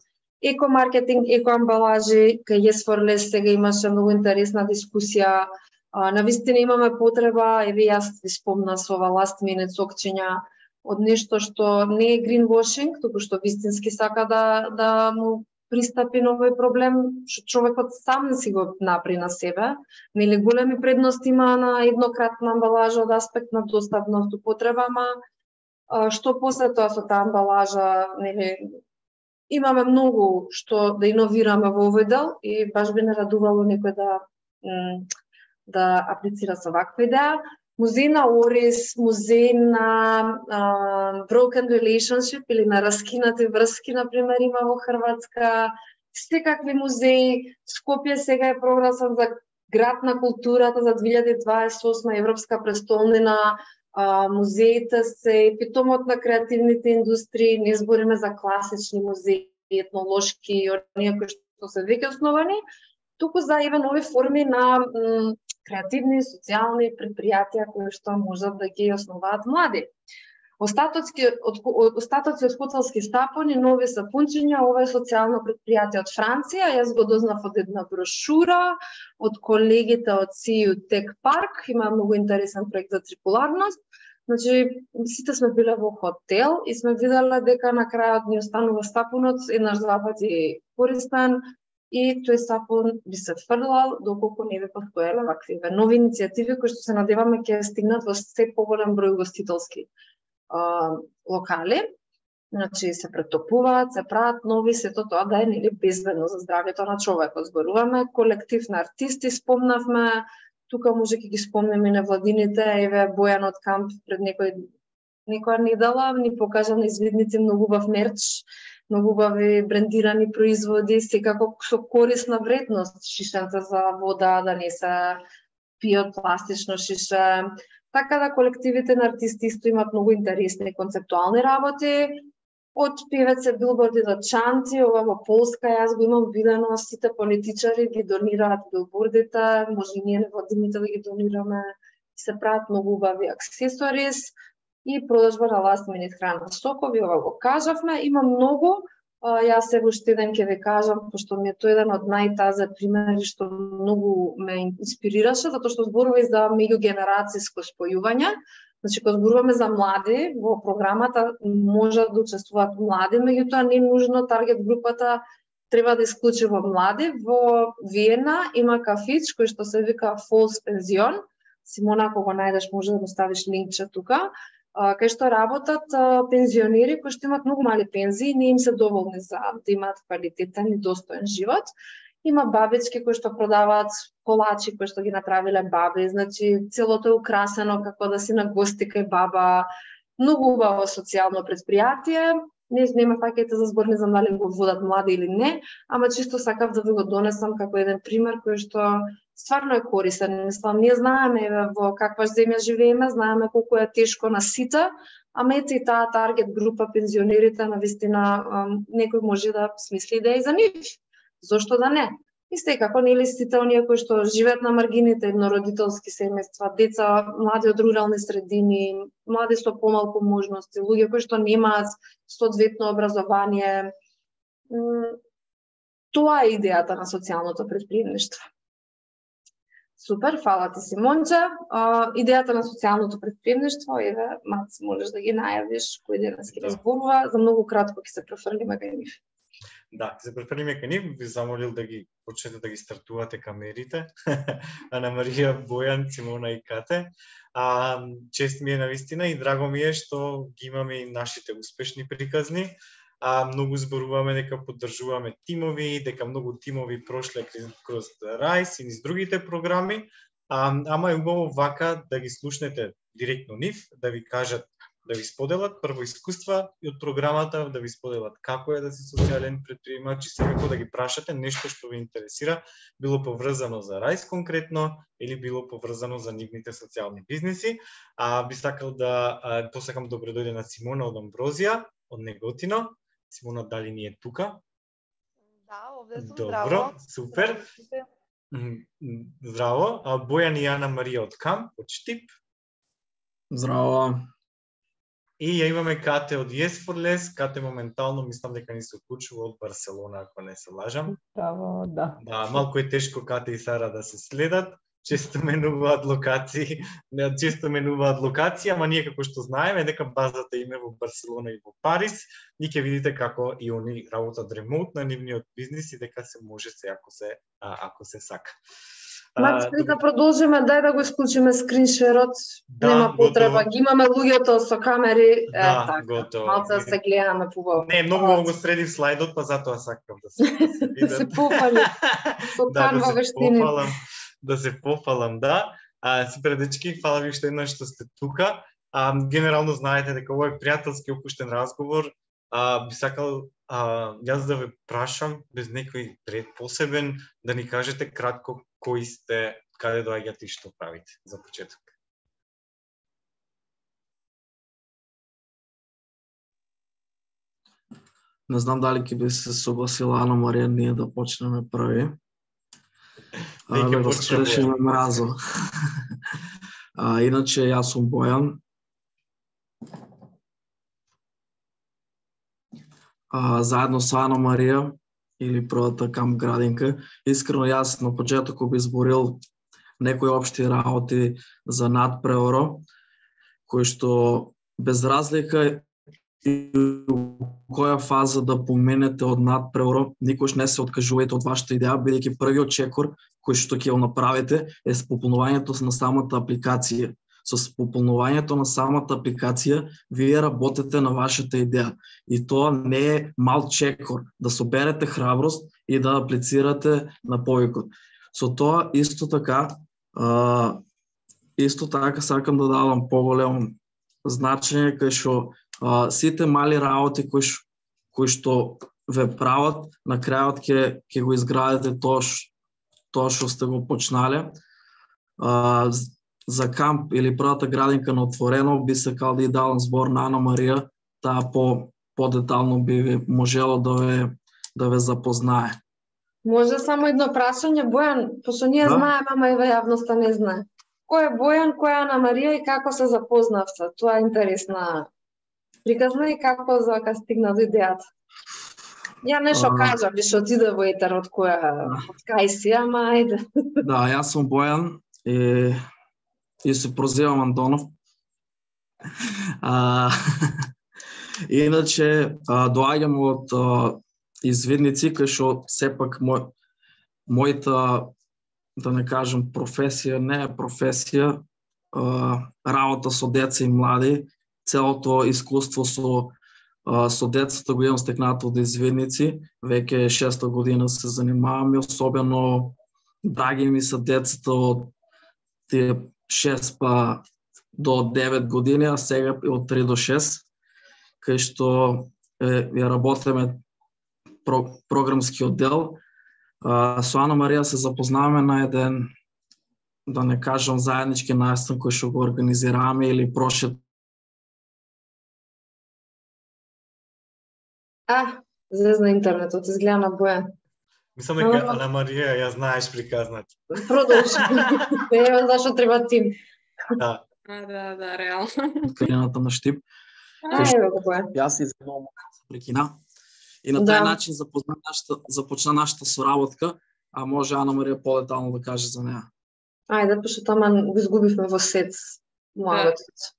екомаркетинг, екоамбалажи, кај Yes for Less сега имаше многу интересна дискусија. Навистина имаме потреба, еве јас ви спомна со ова last minute сокчења од нешто што не е greenwashing, туку што вистински сака да му пристапи на овој проблем, што човекот сам не си го напри на себе. Нели големи предности има на еднократна амбалажа од аспект на доставност употреба, ама што после тоа со таа амбалажа, нели Имаме многу што да иновираме во овој дел и баш би не радувало некој да аплицира со ваква идеја. Музеј на Орис, музеј на broken relationship или на раскинати врски, например, има во Хрватска. Секакви музеи. Скопје сега е прогласен за град на културата за 2028 европска престолнина. Музеите се питомот на креативните индустрии, не збориме за класични музеи, етнолошки и оние кои што се веќе основани, туку за нови форми на креативни социјални предпријатија кои што можат да ги основаат млади. Остатоци од хотелски стапони, нови сапунчиња, ова е социјално предпријатие од Франција. Јас го дознав од една брошура од колегите од CU Tech Park. Има многу интересен проект за циркуларност. Значи, сите сме биле во хотел и сме виделе дека на крајот ни останува сапунот еднаш два пати користен и тој сапун би се фрлал доколку не би постоеле вакви нови иницијативи кои што се надеваме ќе стигнат во се поголем број гостителски локали, значи се претопуваат, се прават нови, сето тоа да е безбедно за здравјето на човекот. Зборуваме колектив на артисти, спомнавме, тука може ќе ги спомнеме невладините, еве Бојан од Камп пред некоја недела ни покажа на извидници многу убав мерч, многу убави брендирани производи, секако со корисна вредност, шишенца за вода, да не се пијат пластично шише. Така да колективите на артисти исто имат многу интересни концептуални работи. Од певеце билборди до чанти, ова во Полска, јас го имам видено, сите политичари ги донираат билбордите, може и ние невладините да ги донираме, се прават многу убави аксесорис и продажба на last minute храна. Сокови, ова го кажавме, има многу. Јас сега уште еден ќе ви кажам, пошто ми е тој еден од најтазе примери што многу ме инспирираше, затоа што зборува и за меѓугенерацијско спојување. Значи, кога зборуваме за млади, во програмата можат да учествуваат млади, меѓутоа не нужно таргет групата треба да исклучува млади. Во Виена има кафич кој што се вика Falls Pension. Симона, ако го најдеш, може да му ставиш линкче тука. Кај што работат пензионери кои што имат многу мали пензии, не им се доволни за да имаат квалитетен и достоен живот. Има бабички кои што продаваат колачи кои што ги направиле баби, значи целото е украсено како да си на гости кај баба. Многу убаво социјално предпријатие. Не ме фаќајте за збор, не знам дали го водат млади или не, ама чисто сакав да ви го донесам како еден пример кој што стварно е корисен. Мислам, ние знаеме во каква земја живееме, знаеме колку е тешко на сите, ама ете и таа таргет група пензионерите навистина некој може да смисли да е за нив. Зошто да не? И секако нели сите оние кои што живеат на маргините, еднородителски семејства, деца, млади од рурални средини, млади со помалку можности, луѓе кои што немаат соодветно образование. Тоа е идејата на социјалното претприемништво. Супер, фала ти, Симонче. Идејата на социјалното претприемништво, еве, Мац, можеш да ги најавиш кој денес ќе разборува, за многу кратко ќе се префрлиме кај нив. Да, се префрлиме кај нив, би замолил да ги почнете да ги стартувате камерите. Ана Марија, Бојан, Симона и Кате. Чест ми е навистина и драго ми е што ги имаме и нашите успешни приказни. Многу зборуваме дека поддржуваме тимови, дека многу тимови прошле кроз Райс и низ другите програми, ама е убаво вака да ги слушнете директно нив, да ви кажат, да ви споделат прво искуства и од програмата, да ви споделат како е да си социјален претприемач и секако да ги прашате нешто што ви интересира, било поврзано за Райс конкретно или било поврзано за нивните социјални бизнеси. Би сакал да посакам добро дојде на Симона од Амброзија, од Неготино. Симона, дали ни е тука? Да, овде сум. Добро, здраво. супер. Здраво. Бојан и Ана Марија од Камп, од Штип. Здраво. И ја имаме Кате од Yes for Less. Кате моментално мислам дека ни се уклучува од Барселона, ако не се лажам. Здраво, да. Да, малку е тешко Кате и Сара да се следат. Често менуваат локации, ама ние како што знаеме дека базата им е во Барселона и во Париз, ние ќе видите како и они работат ремонт на нивниот бизнис и дека се може се ако се сака. Значи да продолжиме, дај да го исклучиме скриншерот. Нема потреба, ги имаме луѓето со камери, така. Готово. Малце се гледаме побаво. Не, многу го средив слайдот, па затоа сакам да се видам. Да се пофали со канва вештини. Да се пофалам, да. Супер дечки, фала ви што еднаш што сте тука. Генерално знаете дека ова е пријателски опуштен разговор. Би сакал јас да ве прашам без некој ред посебен да ни кажете кратко кои сте, каде доаѓате и што правите за почеток. Не знам дали ќе би се согласила Ана Марија ние да почнеме први. Да раскршиме мразо. Иначе јас сум Бојан. Заедно со Ана Марија или првата камп градинка. Искрено јас на почетокот би изборил некои општи работи за надпреоро, кои што без разлика и која фаза да поменете од надпреоро, никош не се откажувајте од вашата идеја, бидејќи првиот чекор кој што ќе го направите е пополнувањето на самата апликација. Со пополнувањето на самата апликација вие работите на вашата идеја. И тоа не е мал чекор, да соберете храброст и да аплицирате на повикот. Со тоа исто така сакам да давам поголемо значење кај што сите мали работи кои што ве прават, на крајот ќе го изградите тоа што сте го почнале. За камп или првата градинка на Отворено би сакал да давам збор на Ана Марија, таа по-детално би можело да ве запознае. Може само едно прашање, Бојан, пошто ние знаеме, ама и јавноста не знае. Кој е Бојан, кој е Ана Марија и како се запознавте? Тоа е интересна приказна и како зака стигна до идејата. Ја нешто кажам, што отиде во етер од кај си, ама ајде. Да, јас сум Бојан и се прозивам Антонов. Иначе, доаѓам од Извидници, кај што сепак мојата, да не кажам професија, не е професија, работа со деца и млади, целото искуство со децата го имам стекнато од Извидници, веќе 6-та година се занимавам и особено драги ми се децата од тие 6 па до 9 години, а сега од 3 до 6, кај што ја работиме програмски оддел. Со Ана Марија се запознаваме на еден, да не кажам заеднички настан кој што го организираме или прошет. Зезна интернетот, изгледа на Бојан. Мислам дека Ана Марија ја знаеш приказната. Продолжи. Ева зашто треба тим. Да. Да, реално. Кајната на Штип. Ева го Бојан. Јас се извинувам се прекина. И на тој начин започна нашата соработка, а може Ана Марија по-детално да каже за неа. Ајде, пошто таман го изгубивме во сет муабетот.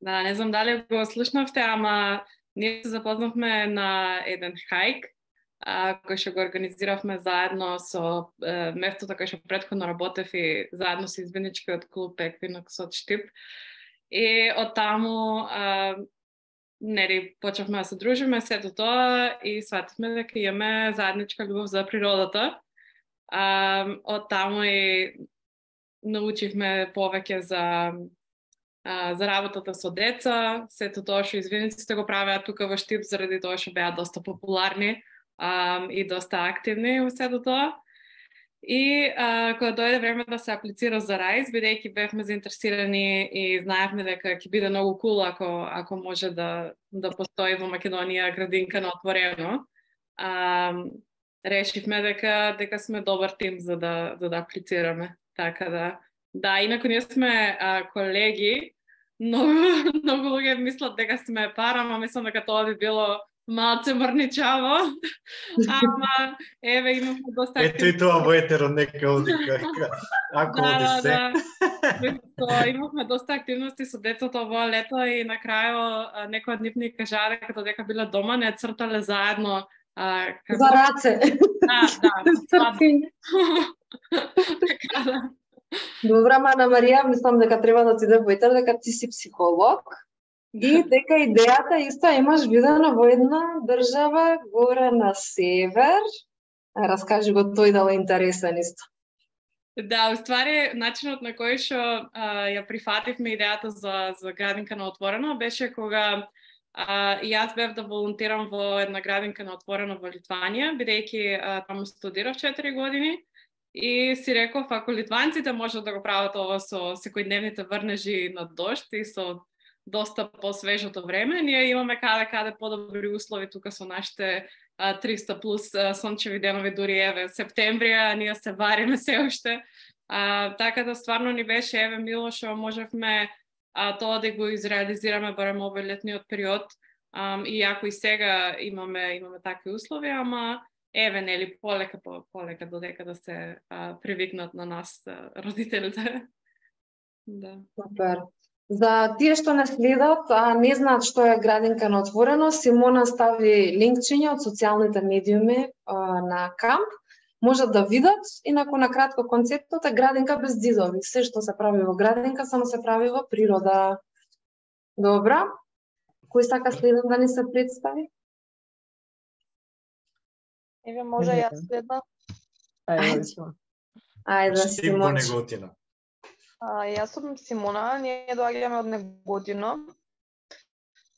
Да, не знам дали го слушнавте, ама ние се запознавме на еден хајк, кој што го организиравме заедно со местото кај што претходно работев и заедно со Извидничкиот клуб Еквинокс од Штип. И од таму почнавме да се дружиме сето тоа и свативме дека имаме заедничка љубов за природата. Од таму и научивме повеќе за работата со деца, сето тоа што Извидниците го правеа тука во Штип заради тоа што беа доста популарни и доста активни во сето тоа. И кога дојде време да се аплицира за Райз, бидејќи бевме заинтересирани и знаевме дека ќе биде многу кул ако може да постои во Македонија градинка на Отворено, решивме дека сме добар тим за да аплицираме. Така да. Да, инаку ние сме колеги, многу луѓе мислат дека сме пара, ама мислам дека тоа би било малце мрничаво, ама еве имавме доста активности. Ето и тоа во етерот нека оди ако оди се. Имавме доста активности со децата овој лето и на крајот некој од нив ни кажа дека биле дома, не цртале заедно за раце. Да. Така да. Добра, Ана Марија, мислам дека треба да ти да поетар дека ти си психолог и дека идејата исто имаш видено во една држава горе на север. Раскажи го тој дали е интересен исто. Да, уствари, начинот на кој што ја прифативме идејата за градинка на отворено беше кога јас бев да волонтерам во една градинка на отворено во Литванија, бидејќи таму студирав 4 години и си реков, ако литванците можат да го прават ова со секојдневните врнежи на дожд и со доста посвежото време, ние имаме каде подобри услови тука со нашите 300 плюс сончеви денови, дури еве септември, а ние се вариме се уште. Така да стварно ни беше еве мило што можевме тоа да го изреализираме барем овој летниот период. Иако и сега имаме такви услови, ама еве нели полека додека да се привикнат на нас родителите. Да. Супер. За тие што не следат, не знаат што е градинка на отворено, Симона стави линкчиња од социјалните медиуми на камп. Можат да видат, инаку на кратко концептот е градинка без дидови. Се што се прави во градинка, само се прави во природа. Добра. Кој сака следен да ни се представи? Еве, може јас следна. Ајде, Симона. Неготина. Јас сум Симона, ние доаѓаме од Неготино.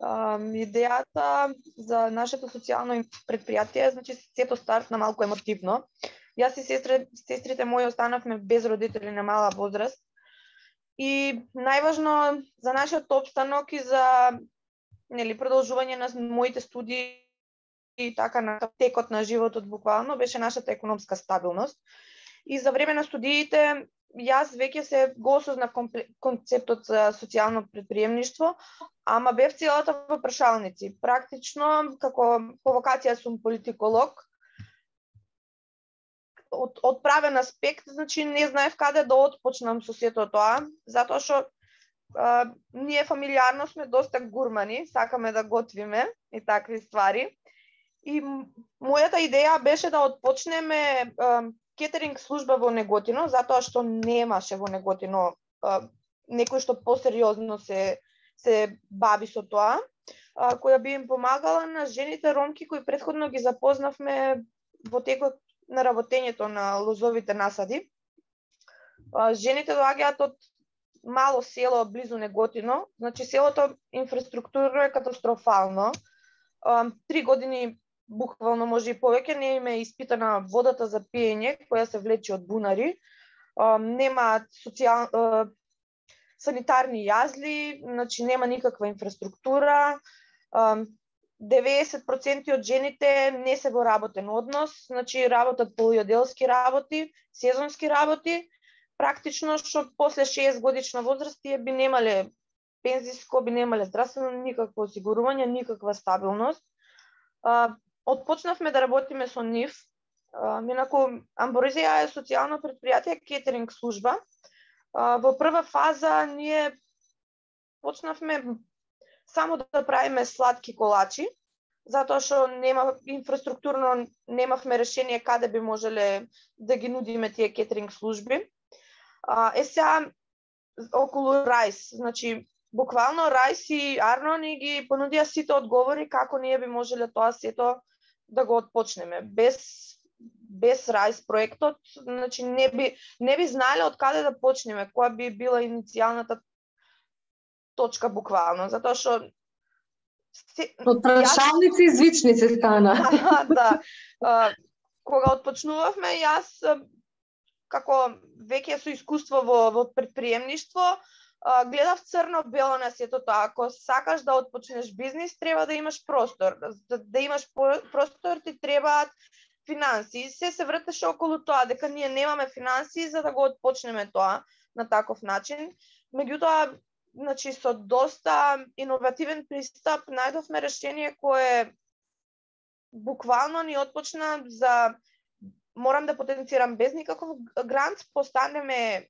Идејата за нашето социјално предпријатие, значи сето стартна малку емотивно. Јас и сестрите мои останавме без родители на мала возраст. И најважно за нашиот опстанок и за продолжување на моите студии и така на текот на животот буквално беше нашата економска стабилност. И за време на студиите јас веќе се го осознав концептот за социјално предприемништво, ама бев целата во прашалници. Практично, како по вокација сум политиколог, од правен аспект, значи не знаев каде да отпочнам со сето тоа, затоа што ние фамилиарно сме доста гурмани, сакаме да готвиме и такви ствари. И мојата идеја беше да отпочнеме кетеринг служба во Неготино, затоа што немаше во Неготино некој што посериозно се бави со тоа, која би им помагала на жените ромки кои претходно ги запознавме во текот на работењето на лозовите насади. Жените доаѓаат од мало село близу Неготино, значи селото инфраструктура е катастрофално. 3 години буквално може и повеќе не им е испитана водата за пиење која се влече од бунари. Нема санитарни јазли, значи нема никаква инфраструктура. 90% од жените не се во работен однос, значи работат полујоделски работи, сезонски работи. Практично што после 6 годишна возраст тие би немале пензиско, би немале здравствено никакво осигурување, никаква стабилност. Отпочнавме да работиме со нив. Инаку Амброзија е социјално предпријатие, кетеринг служба. Во прва фаза ние почнавме само да правиме сладки колачи, затоа што инфраструктурно немавме решение каде би можеле да ги нудиме тие кетеринг служби. Сега околу Рајс, значи буквално Рајс и Арно ни ги понудија сите одговори како ние би можеле тоа сето да го отпочнеме. Без Рајс проектот, значи не би знаеле од каде да почнеме, која би била иницијалната точка буквално, затоа што од прашалници и звичници стана. Да. Кога отпочнувавме, јас како веќе со искуство во предприемништво, гледав црно-бело на сето тоа. Ако сакаш да отпочнеш бизнис, треба да имаш простор. Да имаш простор ти требаат финансии. Се вртеше околу тоа, дека ние немаме финансии за да го отпочнеме тоа на таков начин. Меѓутоа, значи со доста иновативен пристап најдовме решение кое буквално ни отпочна за морам да потенцирам без никаков грант, постанеме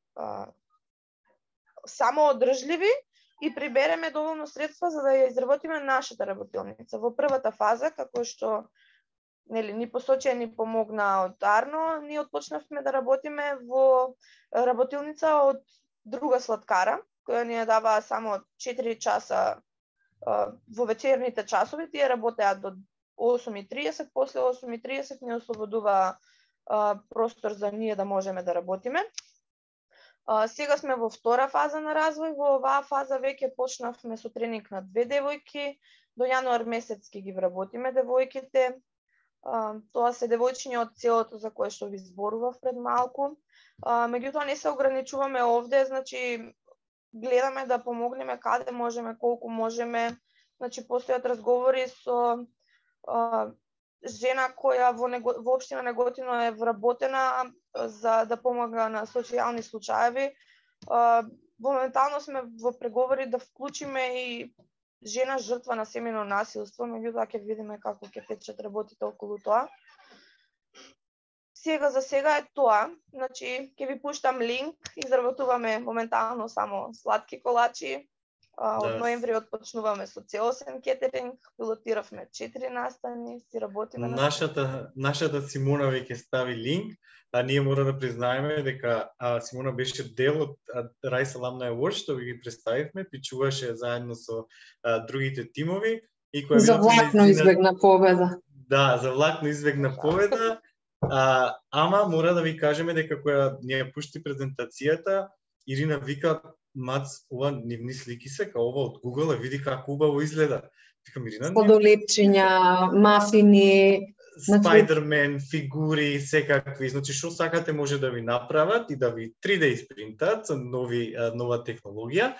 самоодржливи и прибереме доволно средства за да ја изработиме нашата работилница. Во првата фаза, како што ни посочи, ни помогна од Арно, ние отпочнавме да работиме во работилница од друга сладкара, која ни ја дава само 4 часа во вечерните часови, тие работеа до 8:30, после 8:30 ни ослободува простор за ние да можеме да работиме. Сега сме во втора фаза на развој, во оваа фаза веќе почнавме со тренинг на 2 девојки, до јануар месец ќе ги вработиме девојките. Тоа се девојчиња од селото за кое што ви зборував пред малку. Меѓутоа не се ограничуваме овде, значи гледаме да помогнеме каде можеме, колку можеме. Значи постојат разговори со жена која во општина Неготино е вработена за да помага на социјални случаеви. Моментално сме во преговори да вклучиме и жена жртва на семејно насилство, меѓутоа ќе видиме како ќе течат работите околу тоа. Сега за сега е тоа, значи ќе ви пуштам линк, изработуваме моментално само сладки колачи. Од ноември отпочнуваме со целосен кетеринг, пилотиравме 4 настани, си работиме на нашата Симона веќе стави линк, а ние мора да признаеме дека Симона беше дел од Rice Alumni Awards, што ги представивме, пичуваше заедно со другите тимови и која за влакно избегна победа. Да, за влакно избегна победа. Ама мора да ви кажеме дека која ни ја пушти презентацијата, Ирина вика: "Мац, ова нивни слики се, као ова од Google, види како убаво изгледа." Викам: "Ирина, сладолепчиња, мафини, Spider-Man, фигури, секакви, значи што сакате може да ви направат и да ви 3D испринтат со нова технологија,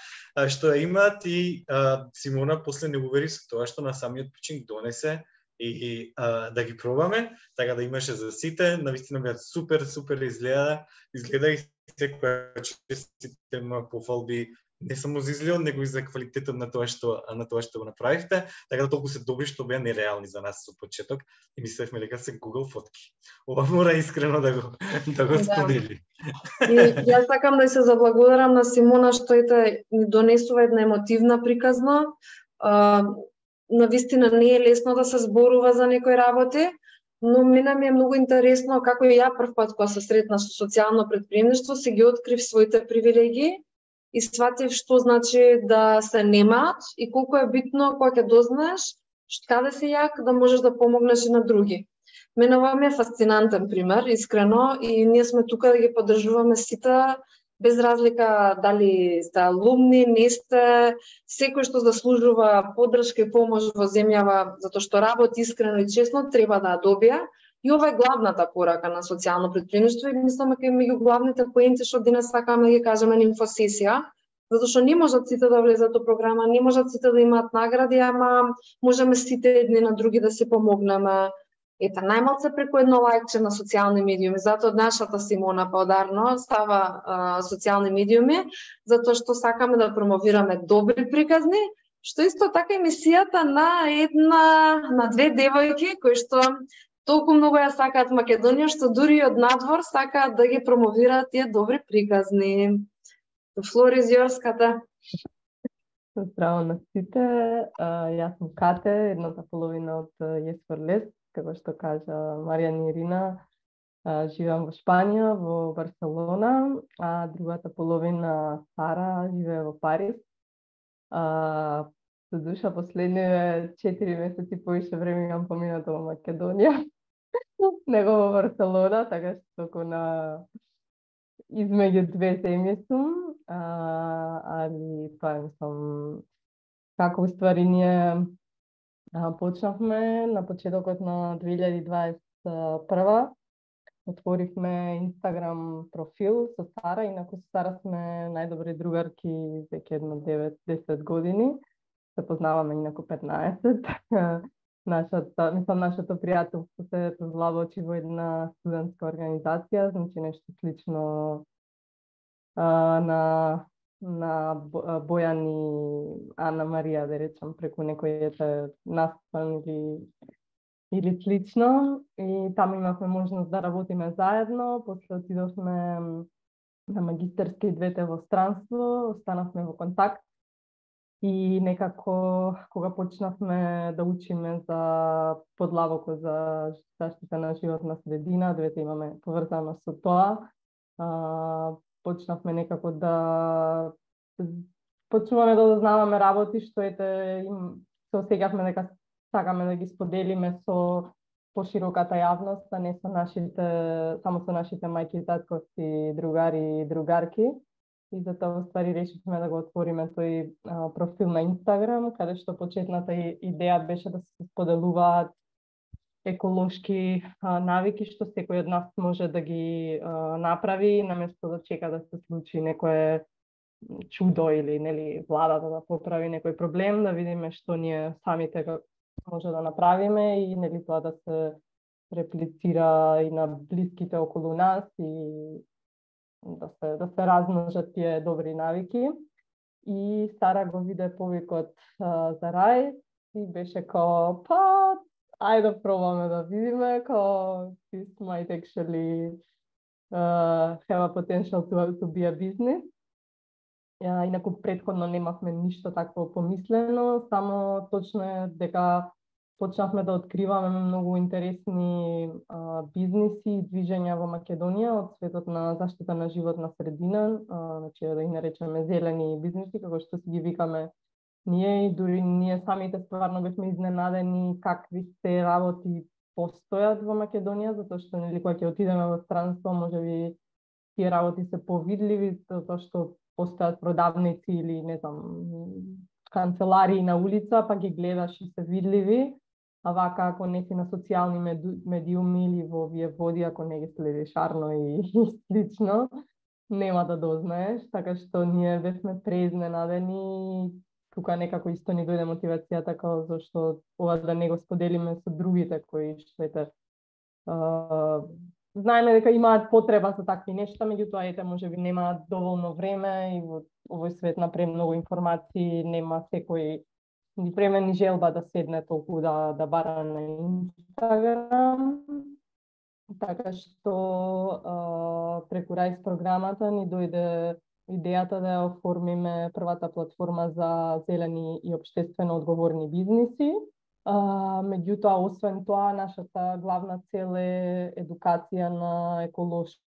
што ја имаат и Симона после не увери со тоа што на самиот почин донесе и да ги пробаме, така да имаше за сите, навистина беа супер изгледа и секоја честите пофалби не само за изгледот, него и за квалитетот на тоа што го направивте, така да толку се добри што беа нереални за нас со почеток и мислевме дека се Google фотки. Ова мора искрено да го сподели. И јас сакам да се заблагодарам на Симона што ни донесува една емотивна приказна. Навистина не е лесно да се зборува за некои работи, но мене ми е многу интересно како и ја прв пат кога се сретнав со социјално претприемништво, се ги открив своите привилегии и сватив што значи да се немаат и колку е битно кога ќе дознаеш каде си јак да можеш да помогнеш и на други. Мене ова ми е фасцинантен пример, искрено, и ние сме тука да ги поддржуваме сите, без разлика дали сте алумни, не сте, секој што заслужува поддршка и помош во земјава, затоа што работи искрено и честно, треба да ја добија. И ова е главната порака на социјално претприемништво и мислам дека меѓу главните поенти што денес сакаме да ги кажеме на инфосесија, затоа што не можат сите да влезат во програма, не можат сите да имаат награди, ама можеме сите едни на други да се помогнеме. Ета, најмалце преку едно лајкче на социјални медиуми, затоа нашата Симона Паударно става социјални медиуми, затоа што сакаме да промовираме добри приказни, што исто така емисијата на две девојки кои што толку многу ја сакаат Македонија, што дури од надвор сакаат да ги промовираат тие добри приказни. Флори Зиорската. Здраво на сите, јас сум Кате, едната половина од Yes for Less, како што кажа Маријан и Ирина, живеам во Шпанија, во Барселона, а другата половина Сара живее во Париз. Со душа последниве 4 месеци повише време имам поминато во Македонија, него во Барселона, така што току на измеѓу две земји сум, али тоа мислам како уствари ние почнавме на почетокот на 2021. Отворивме Инстаграм профил со Сара, инаку со Сара сме најдобри другарки веќе едно 9-10 години. Се познаваме инаку 15. Нашето пријателство се провлавочи во една студентска организација, значи нешто слично на Бојан и Ана Марија, да речам, преку некој настан или слично. И таму имавме можност да работиме заедно. После отидовме на магистерски двете во странство, останавме во контакт. И некако кога почнавме да учиме за подлабоко за заштита на животна средина, двете имаме поврзано со тоа, почнавме некако да почнуваме да дознаваме работи што се осеќавме дека сакаме да ги споделиме со пошироката јавност, а не само со нашите мајки, татковци, другари и другарки. И затоа ствари решивме да го отвориме тој профил на Инстаграм, каде што почетната идеја беше да се споделуваат еколошки навики што секој од нас може да ги направи, наместо да чека да се случи некое чудо или нели владата да поправи некој проблем, да видиме што ние самите може да направиме и нели тоа да се реплицира и на блиските околу нас и да се размножат тие добри навики. И Сара го виде повикот за Рај и беше као, ајде да пробаме да видиме, као this might actually have a potential to be a business. Инаку предходно немавме ништо такво помислено, само точно е дека почнавме да откриваме многу интересни бизниси и движења во Македонија од светот на заштита на животна средина, значи да ги наречеме зелени бизниси, како што си ги викаме ние, и дури ние самите стварно бевме изненадени какви се работи постојат во Македонија, затоа што нели кога ќе отидеме во странство, можеби тие работи се повидливи, затоа што постојат продавници или не знам канцеларии на улица, па ги гледаш и се видливи, а вака ако не си на социјални медиуми или во овие води, ако не ги следиш арно и слично, нема да дознаеш, така што ние бевме преизненадени. Тука некако исто ни дојде мотивацијата како зашто ова да не го споделиме со другите кои што знаеме дека имаат потреба за такви нешта, меѓутоа ете можеби немаат доволно време и во овој свет на премногу информации нема секој ни време ни желба да седне толку да бара на Инстаграм. Така што преку Рајс програмата ни дојде идејата да ја оформиме првата платформа за зелени и општествено одговорни бизниси. Меѓутоа, освен тоа, нашата главна цел е едукација на еколошки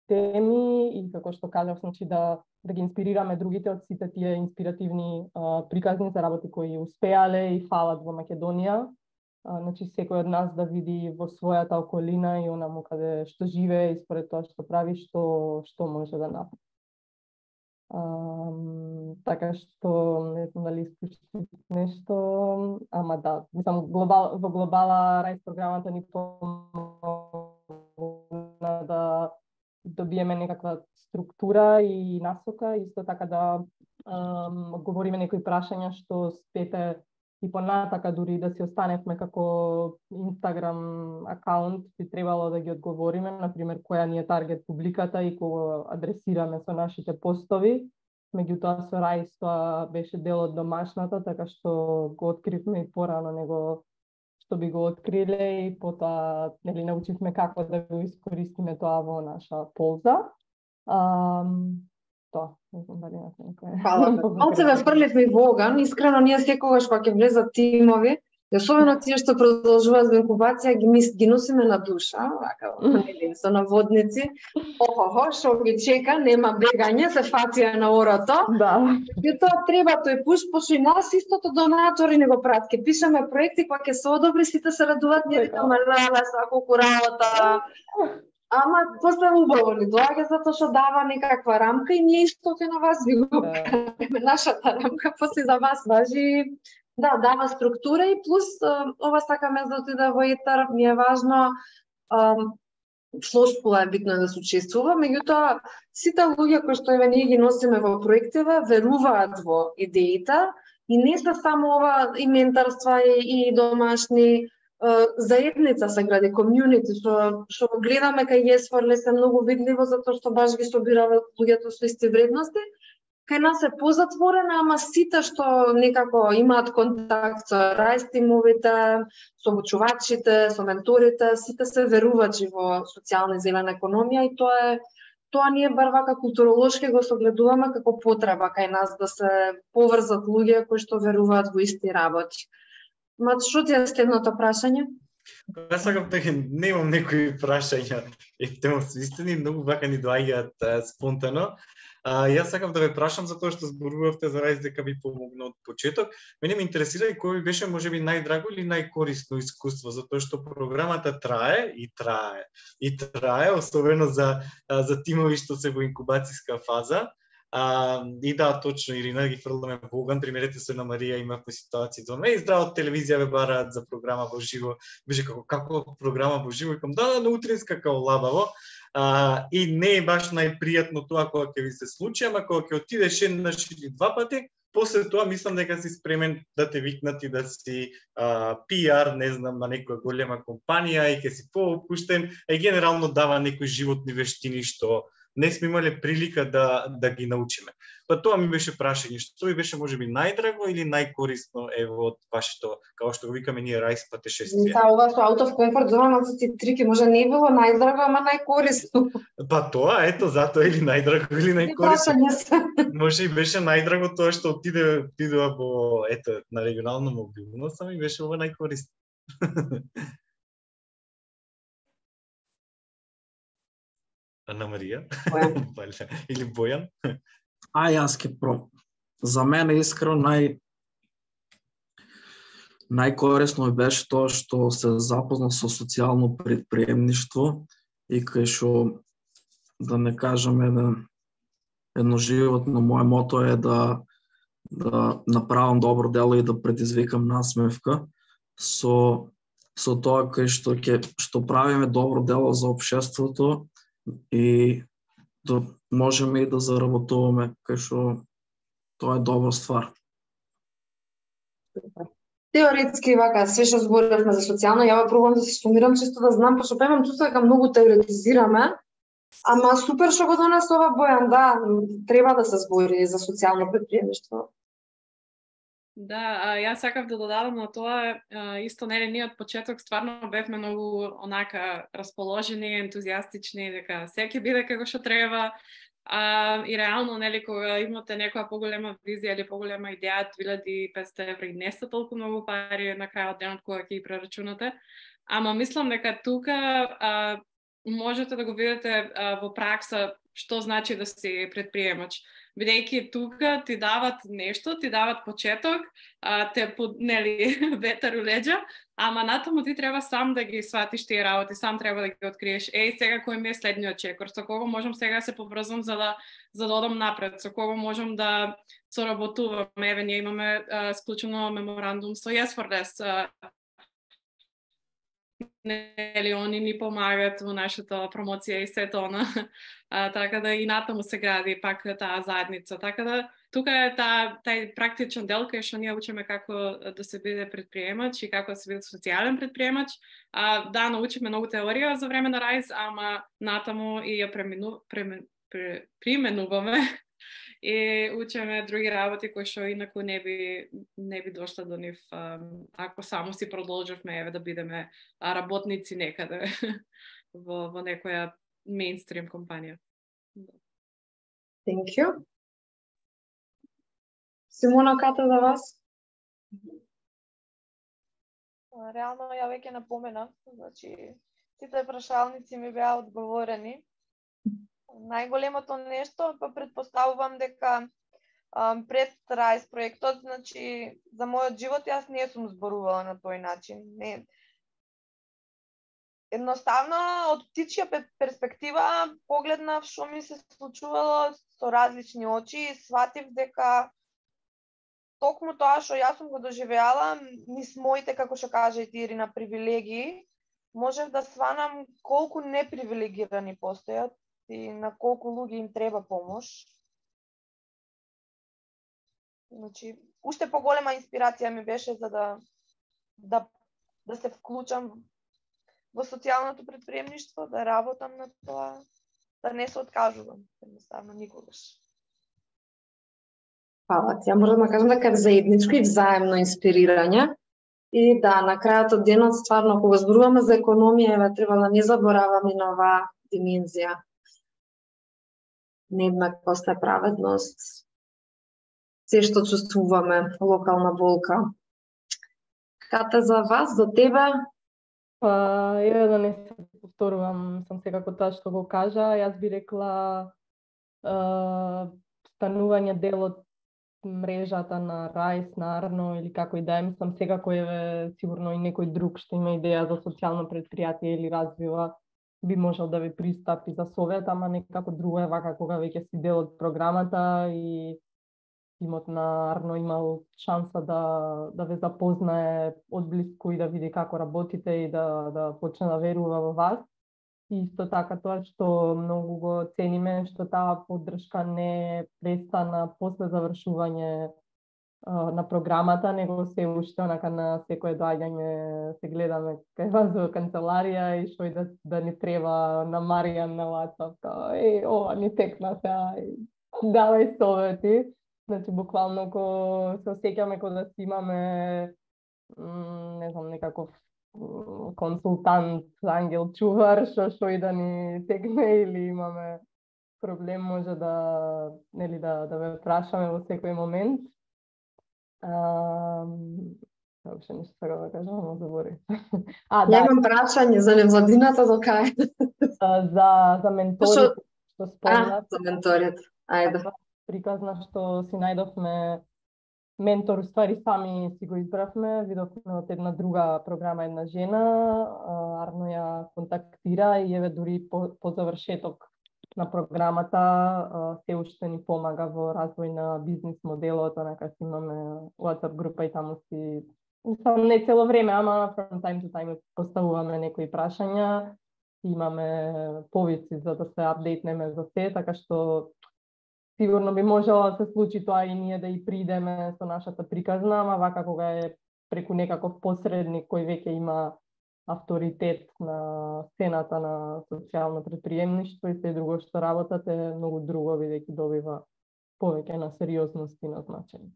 теми и како што кажав, значи да ги инспирираме другите од сите тие инспиративни приказни за работи кои успеале и фалат во Македонија. Значи секој од нас да види во својата околина и онаму каде што живее и според тоа што прави, што може да направи. Така што не знам дали исклучи нешто, ама да, мислам во глобала Рајс програмата ни помогна да добиеме некаква структура и насока, исто така да одговориме некои прашања што спете и понатака дури да си останевме како Инстаграм акаунт, би требало да ги одговориме, например, која ни е таргет публиката и кога адресираме со нашите постови. Меѓутоа со Рајс тоа беше дел од домашната, така што го откривме и порано него што би го откриле и потоа нели научивме како да го искористиме тоа во наша полза. Тоа, не знам дали имате некој. Фала. Малце ве фрлевме во оган, искрено ние секогаш кога ќе влезат тимови, и особено тие што продолжуваат за инкубација, ги носиме на душа, вака, нели, со наводници. Што ги чека, нема бегање, се фација на орото. Да. И тоа треба тој пуш, пошто и нас истото донатори не го прат. Ке пишеме проекти, кога ќе се одобри, сите се радуваат, ние викаме леле, колку работа. Ама после убаво ни доаѓа затоа што дава некаква рамка и ние исто на вас ви го кажеме. Нашата рамка после за вас важи. Да, дава структура и плюс ова сакаме да отиде во етер, ми е важно флошкула е битно да се учествува, меѓутоа сите луѓе кои што ние ги носиме во проективе веруваат во идеите и не се само ова и ментарства и домашни заедница се гради, комјунити, што го гледаме кај Јесфорле се многу видливо затоа што баш ги собирава луѓето со исти вредности. Кај нас е позатворена, ама сите што некако имаат контакт со Рајс тимовите, со обучувачите, со менторите, сите се верувачи во социјална и зелена економија и тоа е тоа ние бар вака културолошки го согледуваме како потреба кај нас да се поврзат луѓе кои што веруваат во исти работи. Ма што ти е следното прашање? Јас сакам дека немам некои прашања, ефтемосвистени, многу вака ни доаѓаат спонтано. Јас сакам да ве прашам за тоа што зборувавте за Рајс дека ви помогна од почеток. Мене ме интересира и кој ви беше можеби најдраго или најкорисно искуство, затоа што програмата трае, особено за тимови што се во инкубацијска фаза. И да, точно, Ирина, ги фрламе во оган. Примерете се на Марија, имавме ситуации дома и здраво телевизија ве бараат за програма во живо. Беше како програма во живо, викам да, на утринска као лабаво. И не е баш најпријатно тоа кога ќе ви се случи, ама кога ќе отидеш еднаш или два пати, после тоа мислам дека си спремен да те викнат и да си PR, не знам, на некоја голема компанија и ќе си поопуштен, и генерално дава некои животни вештини што не сме имале прилика да ги научиме. Па тоа ми беше прашање, што ви беше можеби најдраго или најкорисно ево од вашето, како што го викаме ние, Рајс патешествие? Да, ова со out of comfort зона на сите трики може не било најдраго, ама најкорисно. Па тоа, ето, затоа или најдраго или најкорисно. Може и беше најдраго тоа што отидува во, ето, на регионална мобилност, ама и беше ова најкорисно. Ана Марија? Или Бојан? Јас ке За мене искрено најкорисно беше тоа што се запознав со социјално предприемништво и кај што, да не кажам, едно животно мое мото е да направам добро дело и да предизвикам насмевка со тоа кај што правиме добро дело за општеството и да можеме и да заработуваме, кај што тоа е добра ствар. Теоретски вака, све што зборевме за социјално, ја пробувам да се сумирам, чисто да знам, пошто имам чувство дека многу теоретизираме, ама супер што го донесе ова Бојан, да, треба да се збори за социјално предприемништво. Да, јас сакав да додадам на тоа, исто нели ние од почеток стварно бевме многу онака расположени, ентузијастични, дека се ќе биде како што треба. И реално, нели, кога имате некоја поголема визија или поголема идеја, 2500 еври не се толку многу пари на крајот денот кога ќе ги прерачунате. Ама мислам дека тука можете да го видите во пракса што значи да си предприемач. Бидејќи тука ти дават нешто, ти дават почеток, те нели ветер у леѓа, ама натаму ти треба сам да ги сватиш тие работи, сам треба да ги откриеш. Сега кој ми е следниот чекор, со кого можам сега да се поврзам за да одам напред, со кого можам да соработувам. Еве, ние имаме склучено меморандум со Yes4Less. Нели, они ни помагаат во нашата промоција и сето она. Така да и натаму се гради пак таа заедница. Така да тука е тај практичен дел кај што ние учиме како да се биде предприемач и како да се биде социјален предприемач. Да, научиме многу теорија за време на Рајс, ама натаму и ја применуваме и учиме други работи кои што инаку не би дошла до нив ако само си продолжевме еве да бидеме работници некаде во некоја мејнстрим компанија. Thank you. Симона, ката за вас? Реално ја веќе напоменав, значи сите прашалници ми беа одговорени. Најголемото нешто, па предпоставувам дека пред Рајс проектот, значи за мојот живот јас не сум зборувала на тој начин. Едноставно, од птичја перспектива, погледнав што ми се случувало со различни очи и сватив дека токму тоа што јас сум го доживеала, низ моите, како што кажа и Ирина, привилегии, можев да сванам колку непривилегирани постојат и на колку луѓе им треба помош. Значи, уште поголема инспирација ми беше за да се вклучам во социјалното предприемништво, да работам на тоа, да не се откажувам, едноставно никогаш. Фала ти. Ја можам да кажам дека е заедничко и взаемно инспирирање. И да, на крајот од денот, стварно, кога зборуваме за економија, треба да не забораваме на оваа димензија. нееднаквост, неправедност, се што чувствуваме, локална болка. Ката за вас, за тебе? Па, еве да не се повторувам, сам секако тоа што го кажа, јас би рекла станување дел од мрежата на Райс, на Арно или како и да е, мислам секако еве сигурно и некој друг што има идеја за социјално предпријатие или развива би можел да ви пристапи за совет, ама некако друго е вака кога веќе си дел од програмата и тимот на Арно имал шанса да ве запознае одблиску и да види како работите и да почне да верува во вас. И исто така тоа што многу го цениме, што таа поддршка не престана после завршување на програмата, него се уште онака на секое доаѓање се гледаме кај вас во канцеларија и што и да ни треба на Маријан на WhatsApp, ова ни текна сега, давај совети. Значи, буквално се осеќаме кога да си имаме, не знам, некаков консултант, ангел чувар, што и да ни текне или имаме проблем, може да ве прашаме во секој момент. Воопшто нешто сакам да кажам, но заборив. Немам прашање за невладината до кај. За менторите, што спомнат. За менторите. Ајде. Приказна што си најдовме ментор, уствари сами си го избравме, видовме од една друга програма една жена, Арно ја контактира и еве дури по завршеток на програмата се уште ни помага во развој на бизнис моделот, онака си имаме WhatsApp група и таму си, не цело време, ама from time to time поставуваме некои прашања, имаме повици за да се апдейтнеме за се, така што сигурно би можело да се случи тоа и ние да и придеме со нашата приказна, ама вака кога е преку некаков посредник кој веќе има авторитет на сцената на социјално претприемништво и се друго што работат е многу друго, бидејќи добива повеќе на сериозност и на значење.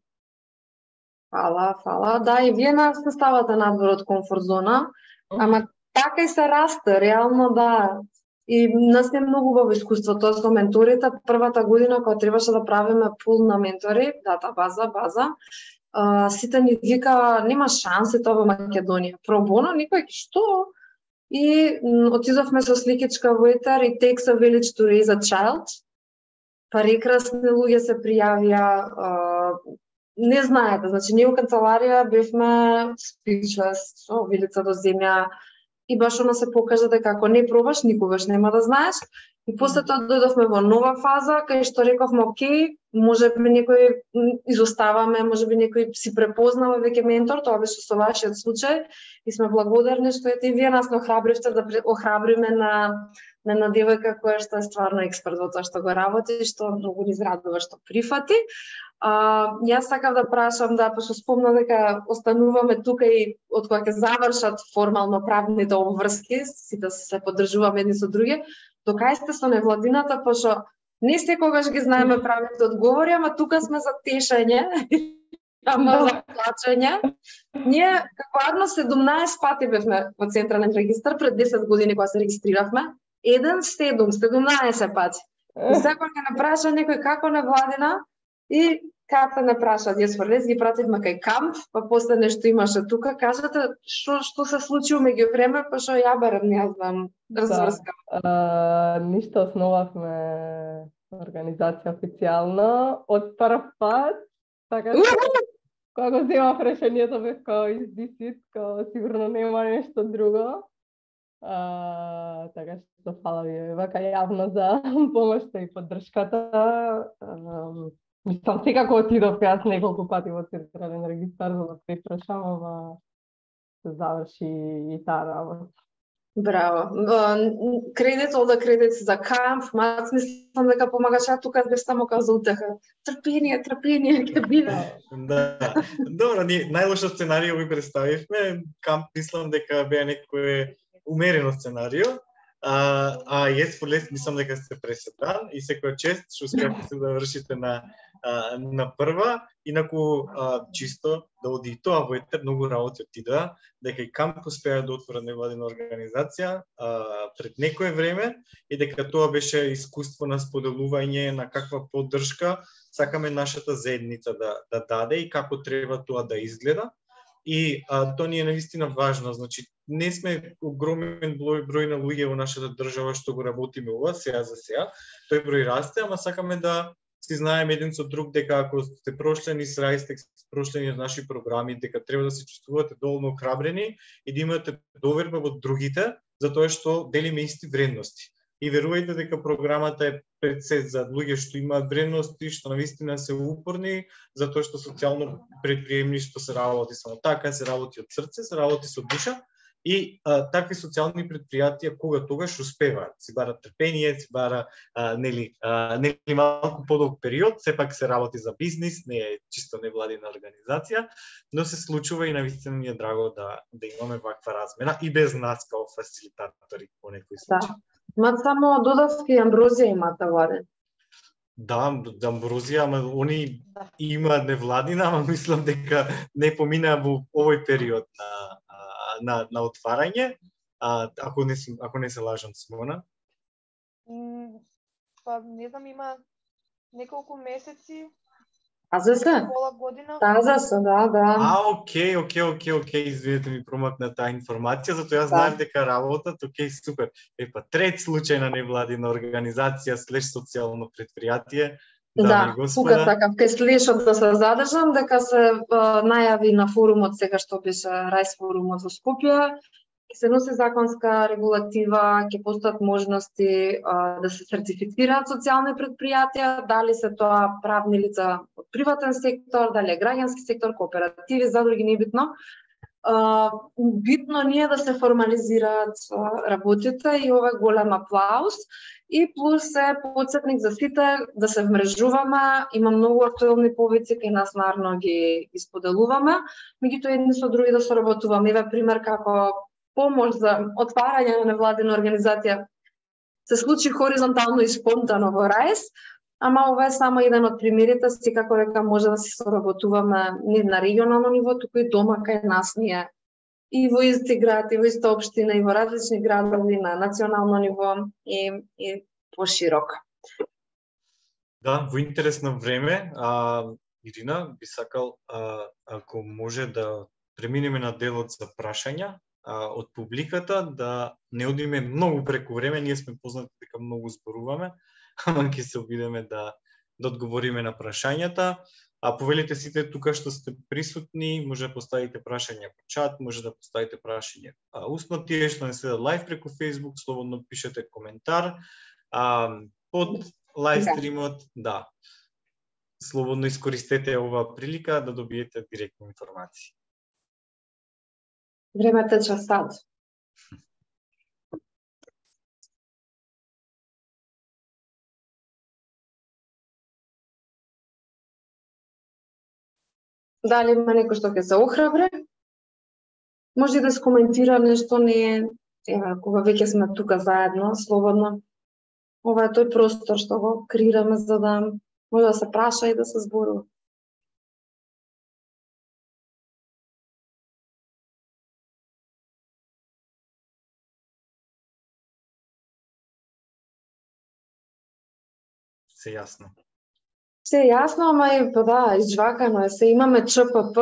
Фала. Да, и вие нас не ставате надвор од комфорт зона, ама така и се расте, реално да. И нас не многу убаво искуство тоа со менторите. Првата година кога требаше да правиме пул на ментори, дата база, сите ни вика нема шанси тоа во Македонија. Пробоно никој што? И отидовме со сликичка во етер и takes a village to raise a child. Прекрасни луѓе се пријавија. Не знаете, значи ние во канцеларија бевме speechless, со вилица до земја. И баш она се покажа дека ако не пробаш, никогаш нема да знаеш. И после тоа дојдовме во нова фаза, кај што рековме, окей, можеби некој изоставаме, можеби некој си препознава веќе ментор, тоа беше со вашиот случај. И сме благодарни што ете и вие нас не охрабривте да охрабриме на една девојка која што е стварно експерт во тоа што го работи, што многу ни израдува што прифати. Јас сакав да прашам, пошто спомна дека остануваме тука и од кога ќе завршат формално правните обврски, сите се поддржуваме едни со други, до кај сте со невладината, пошто не секогаш ги знаеме правните одговори, ама тука сме за тешење, ама за плачење. Ние, како Арно, 17 пати бевме во Централен регистар пред 10 години кога се регистрировавме, 17 пати. И секој ќе не праша некој како невладина, и ката не прашаат, јас фрлез ги пративме кај камп, па после нешто имаше тука, кажете што се случи меѓу време, па што ја барам, не знам, разврскам. Ништо, основавме организација официјално од прв пат, така кога го земав решението бев као издисит, као сигурно нема нешто друго. Така што фала ви вака јавно за помошта и поддршката. Мислам, секако отидов јас неколку пати во Централен регистар за да препрашам, ама се заврши и таа работа. Браво. Кредит за камп, мац мислам дека помагаш, а тука бев само као за утеха. Трпение, ќе биде. Да. Добро, ние најлошо сценарио ви представивме. Камп мислам дека беа некој умерено сценарио. јас полес мислам дека сте преседан и секоја чест што успеавте да вршите на прва, инаку чисто да оди и тоа во етер, многу работи отидоа, дека и камп успеа да отворат невладина организација пред некое време и дека тоа беше искуство на споделување на каква поддршка сакаме нашата заедница да даде и како треба тоа да изгледа. И тоа ни е навистина важно, значи не сме огромен број на луѓе во нашата држава што го работиме ова сега за сега. Тој број расте, ама сакаме да си знаеме еден со друг дека ако сте прошли низ Райстек, прошли низ наши програми, дека треба да се чувствувате доволно охрабрени и да имате доверба во другите, затоа што делиме исти вредности. И верувајте дека програмата е пред се за луѓе што имаат вредности, што навистина се упорни, затоа што социјално предприемништво се работи само така, се работи од срце, се работи со душа. И такви социјални предпријатија кога тогаш успеваат, си бара трпение, си бара нели малку подолг период, сепак се работи за бизнис, не е чисто невладина организација, но се случува и навистина ми е драго да имаме ваква размена и без нас као фасилитатори во некој случај. Да. Ма само додавки Амброзија имате владен. Да, Амброзија, ама они имаат невладина, ама мислам дека не поминаа во овој период на отварање, ако не се лажам, Симона. Па не знам, има неколку месеци. АЗС? Пола година. АЗС, да. Окей, извинете ми промакна таа информација, затоа јас знаев дека работат, супер. Епа, трет случај на невладина организација слеш социјално предпријатие. Да, тука сакав кај слешот да се задржам, дека се најави на форумот сега што беше Рајс форумот во Скопје, ќе се носи законска регулатива, ќе постојат можности да се сертифицираат социјални предпријатија, дали се тоа правни лица од приватен сектор, дали е граѓански сектор, кооперативи, задруги, не битно. Битно ни е да се формализираат работите и ова е голем аплауз. И плюс е подсетник за сите да се вмрежуваме, има многу актуелни повици кај нас нарно ги споделуваме, меѓутоа едни со други да соработуваме. Еве пример како помош за отварање на невладина организација се случи хоризонтално и спонтано во Рајс, ама ова е само еден од примерите, секако дека може да се соработуваме не на регионално ниво, туку и дома кај нас ние. И во исти град, и во иста општина, и во различни градови на национално ниво и пошироко. Да, во интересно време, Ирина, би сакал, ако може да преминеме на делот за прашања од публиката, да не одиме многу преку време, ние сме познати дека многу зборуваме, ама ќе се обидеме да одговориме на прашањата. Повелите сите тука што сте присутни, може да поставите прашања по чат, може да поставите прашање усно, тие што не следат лайв преку Facebook, слободно пишете коментар. Под лайв стримот, да, слободно искористете оваа прилика да добиете директни информации. Времето тече сад. Дали има некој што ќе се охрабре? Може да се коментира нешто, не е, кога веќе сме тука заедно, слободно. Ова е тој простор што го креираме за да може да се праша и да се зборува. Се јасно. Се јасно, ама и да, изжвакано е. Се имаме ЧПП,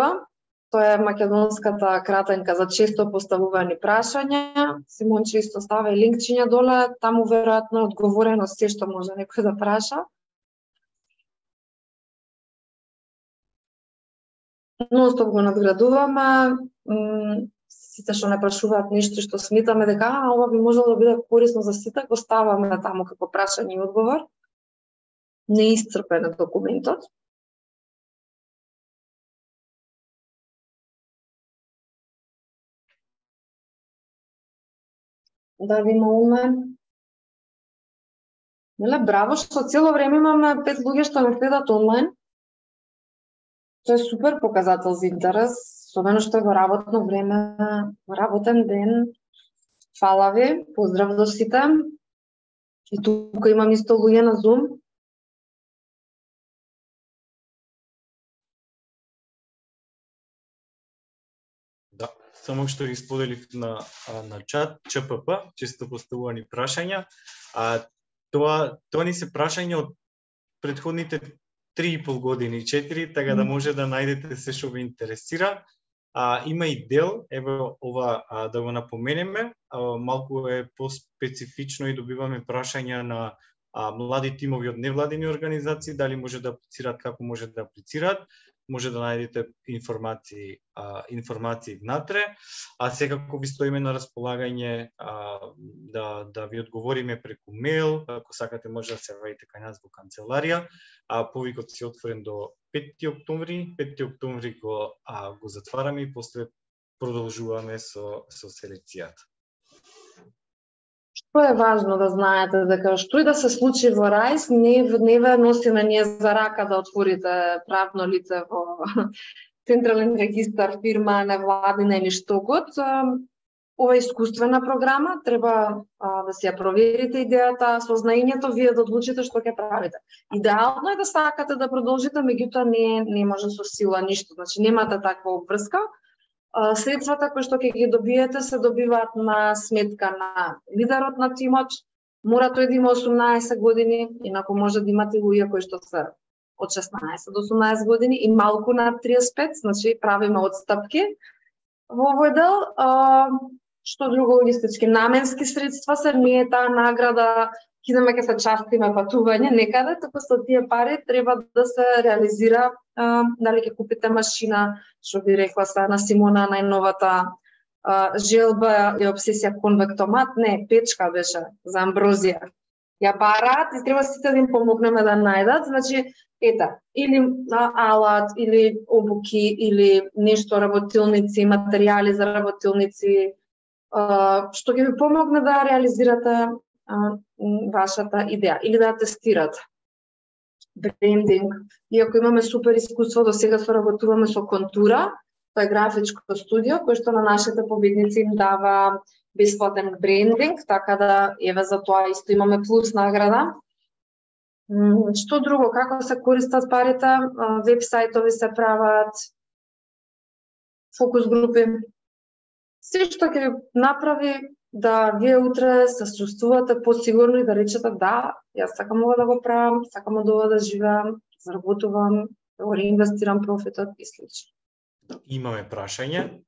тоа е македонската кратенка за често поставувани прашања. Симонче исто става и линкчиња доле, таму веројатно е одговорено се што може некој да праша. Ностоп го надградуваме, сите што не прашуваат нешто што сметаме дека ова би можело да биде корисно за сите, го ставаме таму како прашање и одговор. Неисцрпен е документот. Да видиме онлайн. Браво, што цело време имаме 5 луѓе што не следат онлайн. Тоа е супер показател за интерес, особено што е во работно време, во работен ден. Фала ви, поздрав до сите. И тука имам исто луѓе на Zoom. Да, само што ги споделив на чат, ЧПП, често поставувани прашања. Тоа ни се прашања од претходните 3,5 години, 4, така да може да најдете се што ви интересира. Има и дел, ево ова да го напоменеме, малку е поспецифично и добиваме прашања на млади тимови од невладини организации, дали може да аплицираат, како може да аплицираат. Може да најдете информации внатре, секако ви стоиме на располагање да ви одговориме преку мејл, ако сакате може да се јавите кај нас во канцеларија. Повикот се отворен до 5 октомври. 5 октомври го затвараме и после продолжуваме со селекцијата. Што е важно да знаете, дека што и да се случи во РАИС, не ве носиме ние за рака да отворите правно лице во Централен регистар, фирма, невладина или што год. Ова е искуствена програма, треба да си ја проверите идејата, со знаењето вие да одлучите што ќе правите. Идеално е да сакате да продолжите, меѓутоа не може со сила ништо, значи немате таква обврска. Средствата кои што ќе ги добиете се добиваат на сметка на лидерот на тимот. Мора тој да има 18 години, инаку може да имате луѓе кои што се од 16 до 18 години и малку над 35, значи правиме отстапки во овој дел. Што друго, логистички наменски средства се, не е таа награда кидаме ке се частиме патување некаде, туку со тие пари треба да се реализира дали ќе купите машина, што би рекла са на Симона најновата желба и обсесија конвектомат, не, печка беше за амброзија. Ја бараат и треба сите да им помогнеме да најдат, значи ета, или алат, или обуки, или нешто работилници, материјали за работилници, што ќе ви помогне да реализирате вашата идеја или да ја тестирате. Брендинг. Иако имаме супер искуство, до сега соработуваме со Контура, тоа е графичко студио кој што на нашите победници им дава бесплатен брендинг, така да еве за тоа исто имаме плюс награда. Што друго, како се користат парите, веб-сајтови се прават, фокус групи. Се што ќе ви направи да вие утре се чувствувате посигурно и да речете да, јас сакам ова да го правам, сакам од ова да живеам, заработувам, да го реинвестирам профитот и слично. Имаме прашање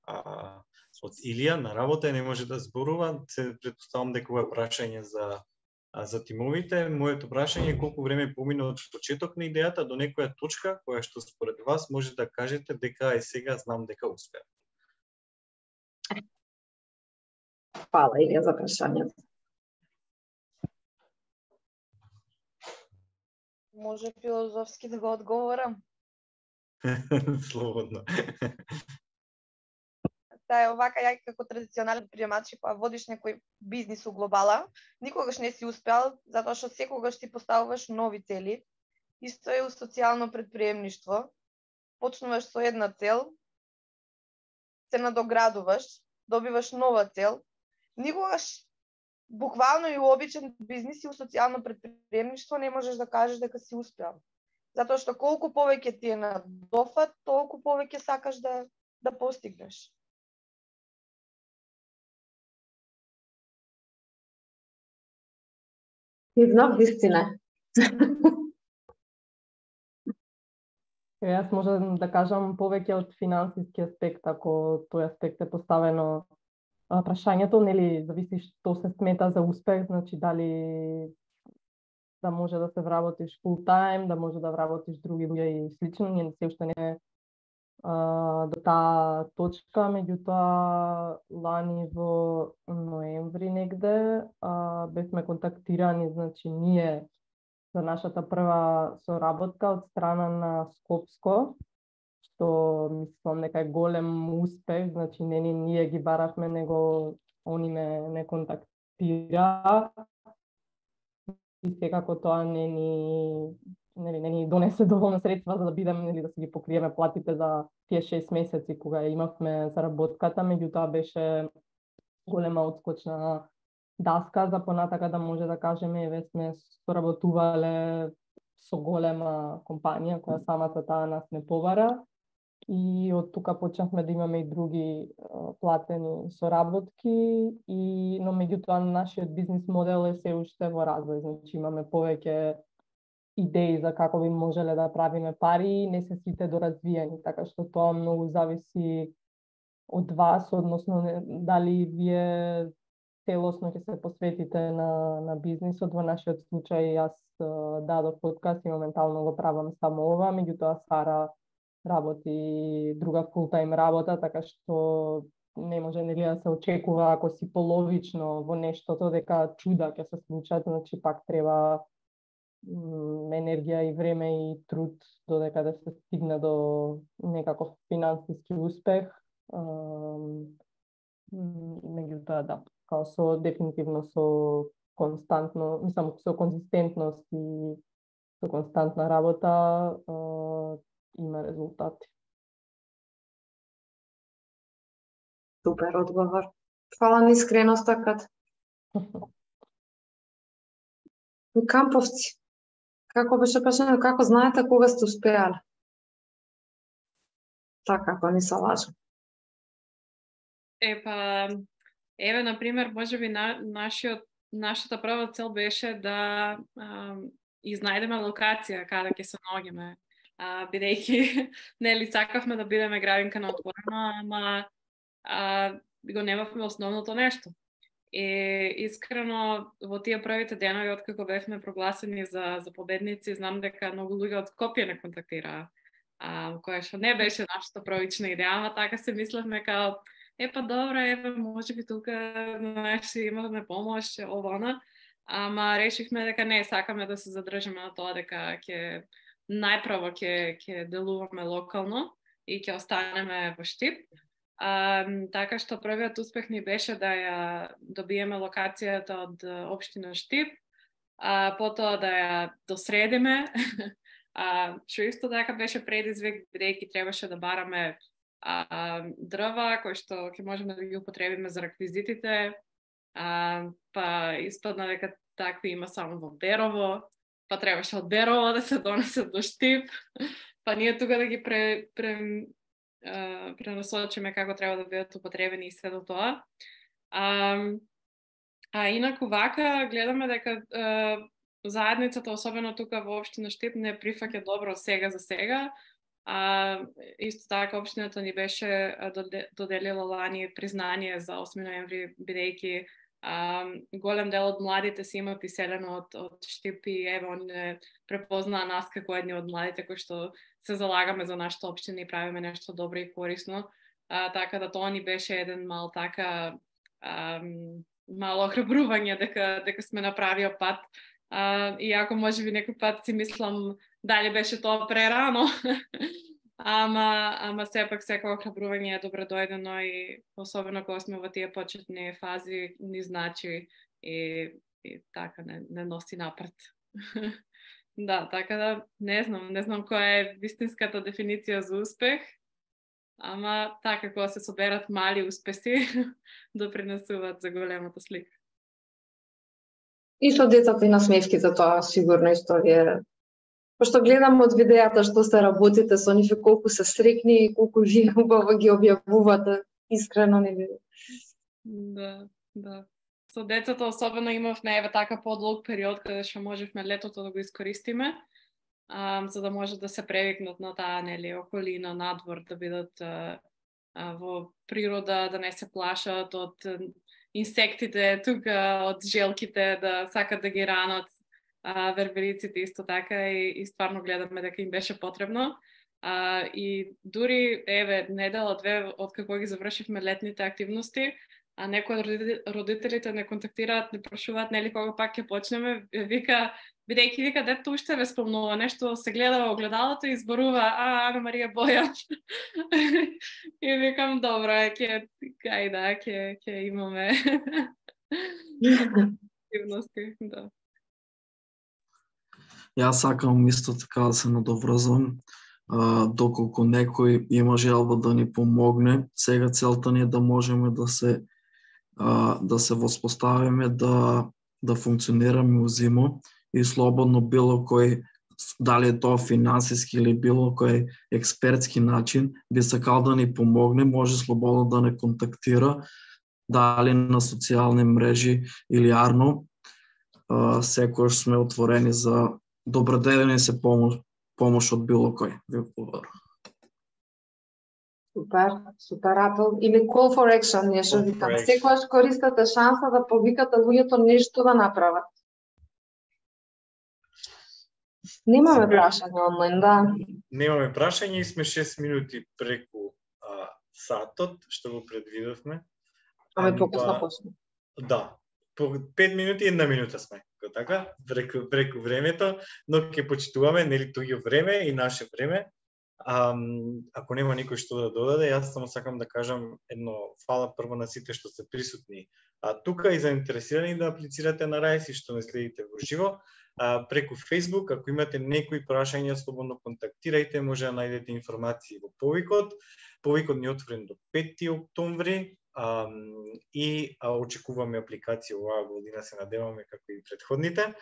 од Илија на работа, не може да зборува, се претпоставам дека ова е прашање за тимовите. Моето прашање е колку време помина од почеток на идејата до некоја точка која што според вас може да кажете дека е сега знам дека успеа. Фала Илија за прашањето. Може филозофски да го одговорам? Слободно. Та е овака, ја како традиционален предприемач, кога водиш некој бизнис у глобала, никогаш не си успеал, затоа што секогаш си поставуваш нови цели. Исто е у социјално предприемништво. Почнуваш со една цел, се надоградуваш, добиваш нова цел. Никогаш, буквално и у обичен бизнис и у социјално предприемништво не можеш да кажеш дека си успеал. Затоа што колку повеќе ти е на дофат, толку повеќе сакаш да постигнеш. Иднав вистина. Јас можам да кажам повеќе од финансиски аспект, ако тој аспект е поставено прашањето, нели, зависи што се смета за успех, значи дали да може да се вработиш full time, да може да вработиш други луѓе и слично, ние се уште не до таа точка, меѓутоа лани во ноември негде бевме контактирани, значи ние за нашата прва соработка од страна на Скопско, што мислам дека е голем успех, значи не ние ги баравме, него они не контактира. И секако тоа не ни донесе доволно средства за да бидеме, да си ги покриеме платите за тие 6 месеци кога имавме заработката, меѓутоа беше голема отскочна даска за понатака да може да кажеме еве сме соработувале со голема компанија која самата таа нас не побара и од тука почнавме да имаме и други платени соработки но меѓутоа нашиот бизнис модел е се уште во развој, значи имаме повеќе идеи за како би можеле да правиме пари, не се сите доразвиени, така што тоа многу зависи од вас, односно дали вие целосно ќе се посветите на бизнисот. Во нашиот случај јас дадов подкаст и моментално го правам само ова, меѓутоа Сара работи друга фултайм работа, така што не може нели да се очекува ако си половично во нештото дека чуда ќе се случат, значи пак треба енергија и време и труд додека да се стигне до некаков финансиски успех. Меѓутоа да, као со дефинитивно со константно, мислам со конзистентност и со константна работа има резултати. Супер одговор. Фала на искреноста Кат. Камповци. Како беше прашано, како знаете кога сте успеале? Така, ако не се лажам. Еве, например, можеби нашата прва цел беше да изнајдеме локација каде ќе се наоѓаме, бидејќи нели сакавме да бидеме градинка на отворено, ама го немавме основното нешто. И искрено во тие првите денови откако бевме прогласени за победници, знам дека многу луѓе од Скопје не контактираа, која што не беше нашата првична идеја, ама така се мислевме као добре, можеби тука имаме помош, ова, ама решивме дека не, сакаме да се задржиме на тоа дека најпрво ќе делуваме локално и ќе останеме во Штип. Така што првиот успех ни беше да ја добиеме локацијата од општина Штип, потоа да ја досредиме, што исто така беше предизвик, бидејќи требаше да бараме дрва кои што ќе можеме да ги употребиме за реквизитите, па испадна дека такви има само во Берово, па требаше од Берово да се донесе до Штип, па ние тука да ги пренасочиме како треба да бидат употребени и се до тоа. Инаку вака гледаме дека заедницата, особено тука во општина Штип, не прифаќа добро сега за сега. Исто така општината ни беше доделила лани признание за 8 ноември, бидејќи голем дел од младите си имаат иселено од Штип и еве они не препознаа нас како едни од младите кои што се залагаме за нашата општина и правиме нешто добро и корисно. Така да тоа ни беше еден мал така мало охрабрување дека сме направија пат. Иако можеби некој пат си мислам дали беше тоа прерано, ама сепак секој охрабрување е добро дојдено и особено кога сме во тие почетни фази ни значи и така не носи напред. Да, така да не знам која е вистинската дефиниција за успех, ама така кога се соберат мали успеси допринесуваат за големата слика. И со децата и насмевките тоа сигурно историја. Пошто гледам од видеата што се работите со нив, колку се срекни и колку вие убаво ги објавувате, искрено не ви. Да. Со децата особено имавме еве така подолг период каде што можевме летото да го искористиме, за да може да се превикнат на таа нели околина, надвор, да бидат во природа, да не се плашат од инсектите тука, од желките, да сакат да ги ранат, вербериците исто така и стварно гледаме дека им беше потребно. И дури еве недела-две од како ги завршивме летните активности, некои од родителите не контактираат, не прашуваат нели кога пак ќе почнеме, бидејќи дето уште ве спомнува нешто, се гледа во огледалото и зборува Ана Марија Боја. И викам добро, ќе имаме активности, да. Јас сакам исто така да се надоврзам, доколку некој има желба да ни помогне, сега целта ни е да можеме да се да се воспоставиме, да функционираме узимо и слободно било кој, дали е тоа финансиски или било кој експертски начин, би сакал да ни помогне, може слободно да не контактира, дали на социјални мрежи или арно. Секогаш сме отворени за доброделени се помош од било кој. Ви благодарам. Супер апел. Или call for action, нешто викам. Секогаш користате шанса да повикате луѓето нешто да направат. Немаме прашање онлайн, да. Немаме прашање и сме 6 минути преку сатот, што го предвидовме. Аме покусно почне. Да. По 5 минути и 1 минута сме. Така, преку времето, но ќе почитуваме нели туѓо време и наше време. Ако нема никој што да додаде, јас само сакам да кажам едно фала прво на сите што се присутни. Тука и заинтересирани да аплицирате на Rise и што не следите во живо. Преку Facebook, ако имате некои прашања, слободно контактирајте, може да најдете информации во повикот. Повикот ни е отворен до 5 октомври и очекуваме апликација оваа година, се надеваме како и предходните.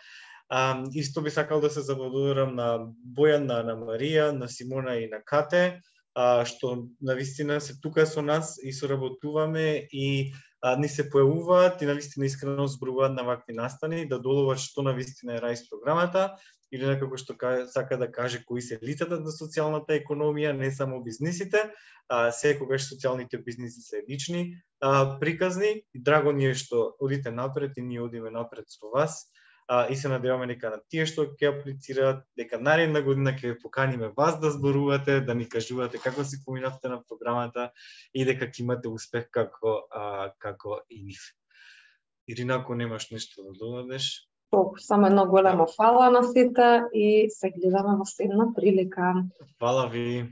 Исто би сакал да се заблагодарам на Бојан, на Марија, на Симона и на Кате, што навистина се тука со нас и соработуваме и ни се појавуваат и навистина искрено зборуваат на вакви настани, да доловат што навистина е Rise програмата, или некако што сака да каже кои се лицата на социјалната економија, не само бизнисите, секогаш социјалните бизниси се лични приказни. И драго ни е што одите напред и ние одиме напред со вас. И се надеваме дека на тие што ќе аплицираат, дека наредна година ќе ве поканиме вас да зборувате, да ни кажувате како си поминавте на програмата и дека ќе имате успех како и нив. Ирина, ако немаш нешто да додадеш? Само едно големо фала на сите и се гледаме во следна прилика. Фала ви.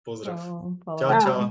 Поздрав. Фала. Чао, чао.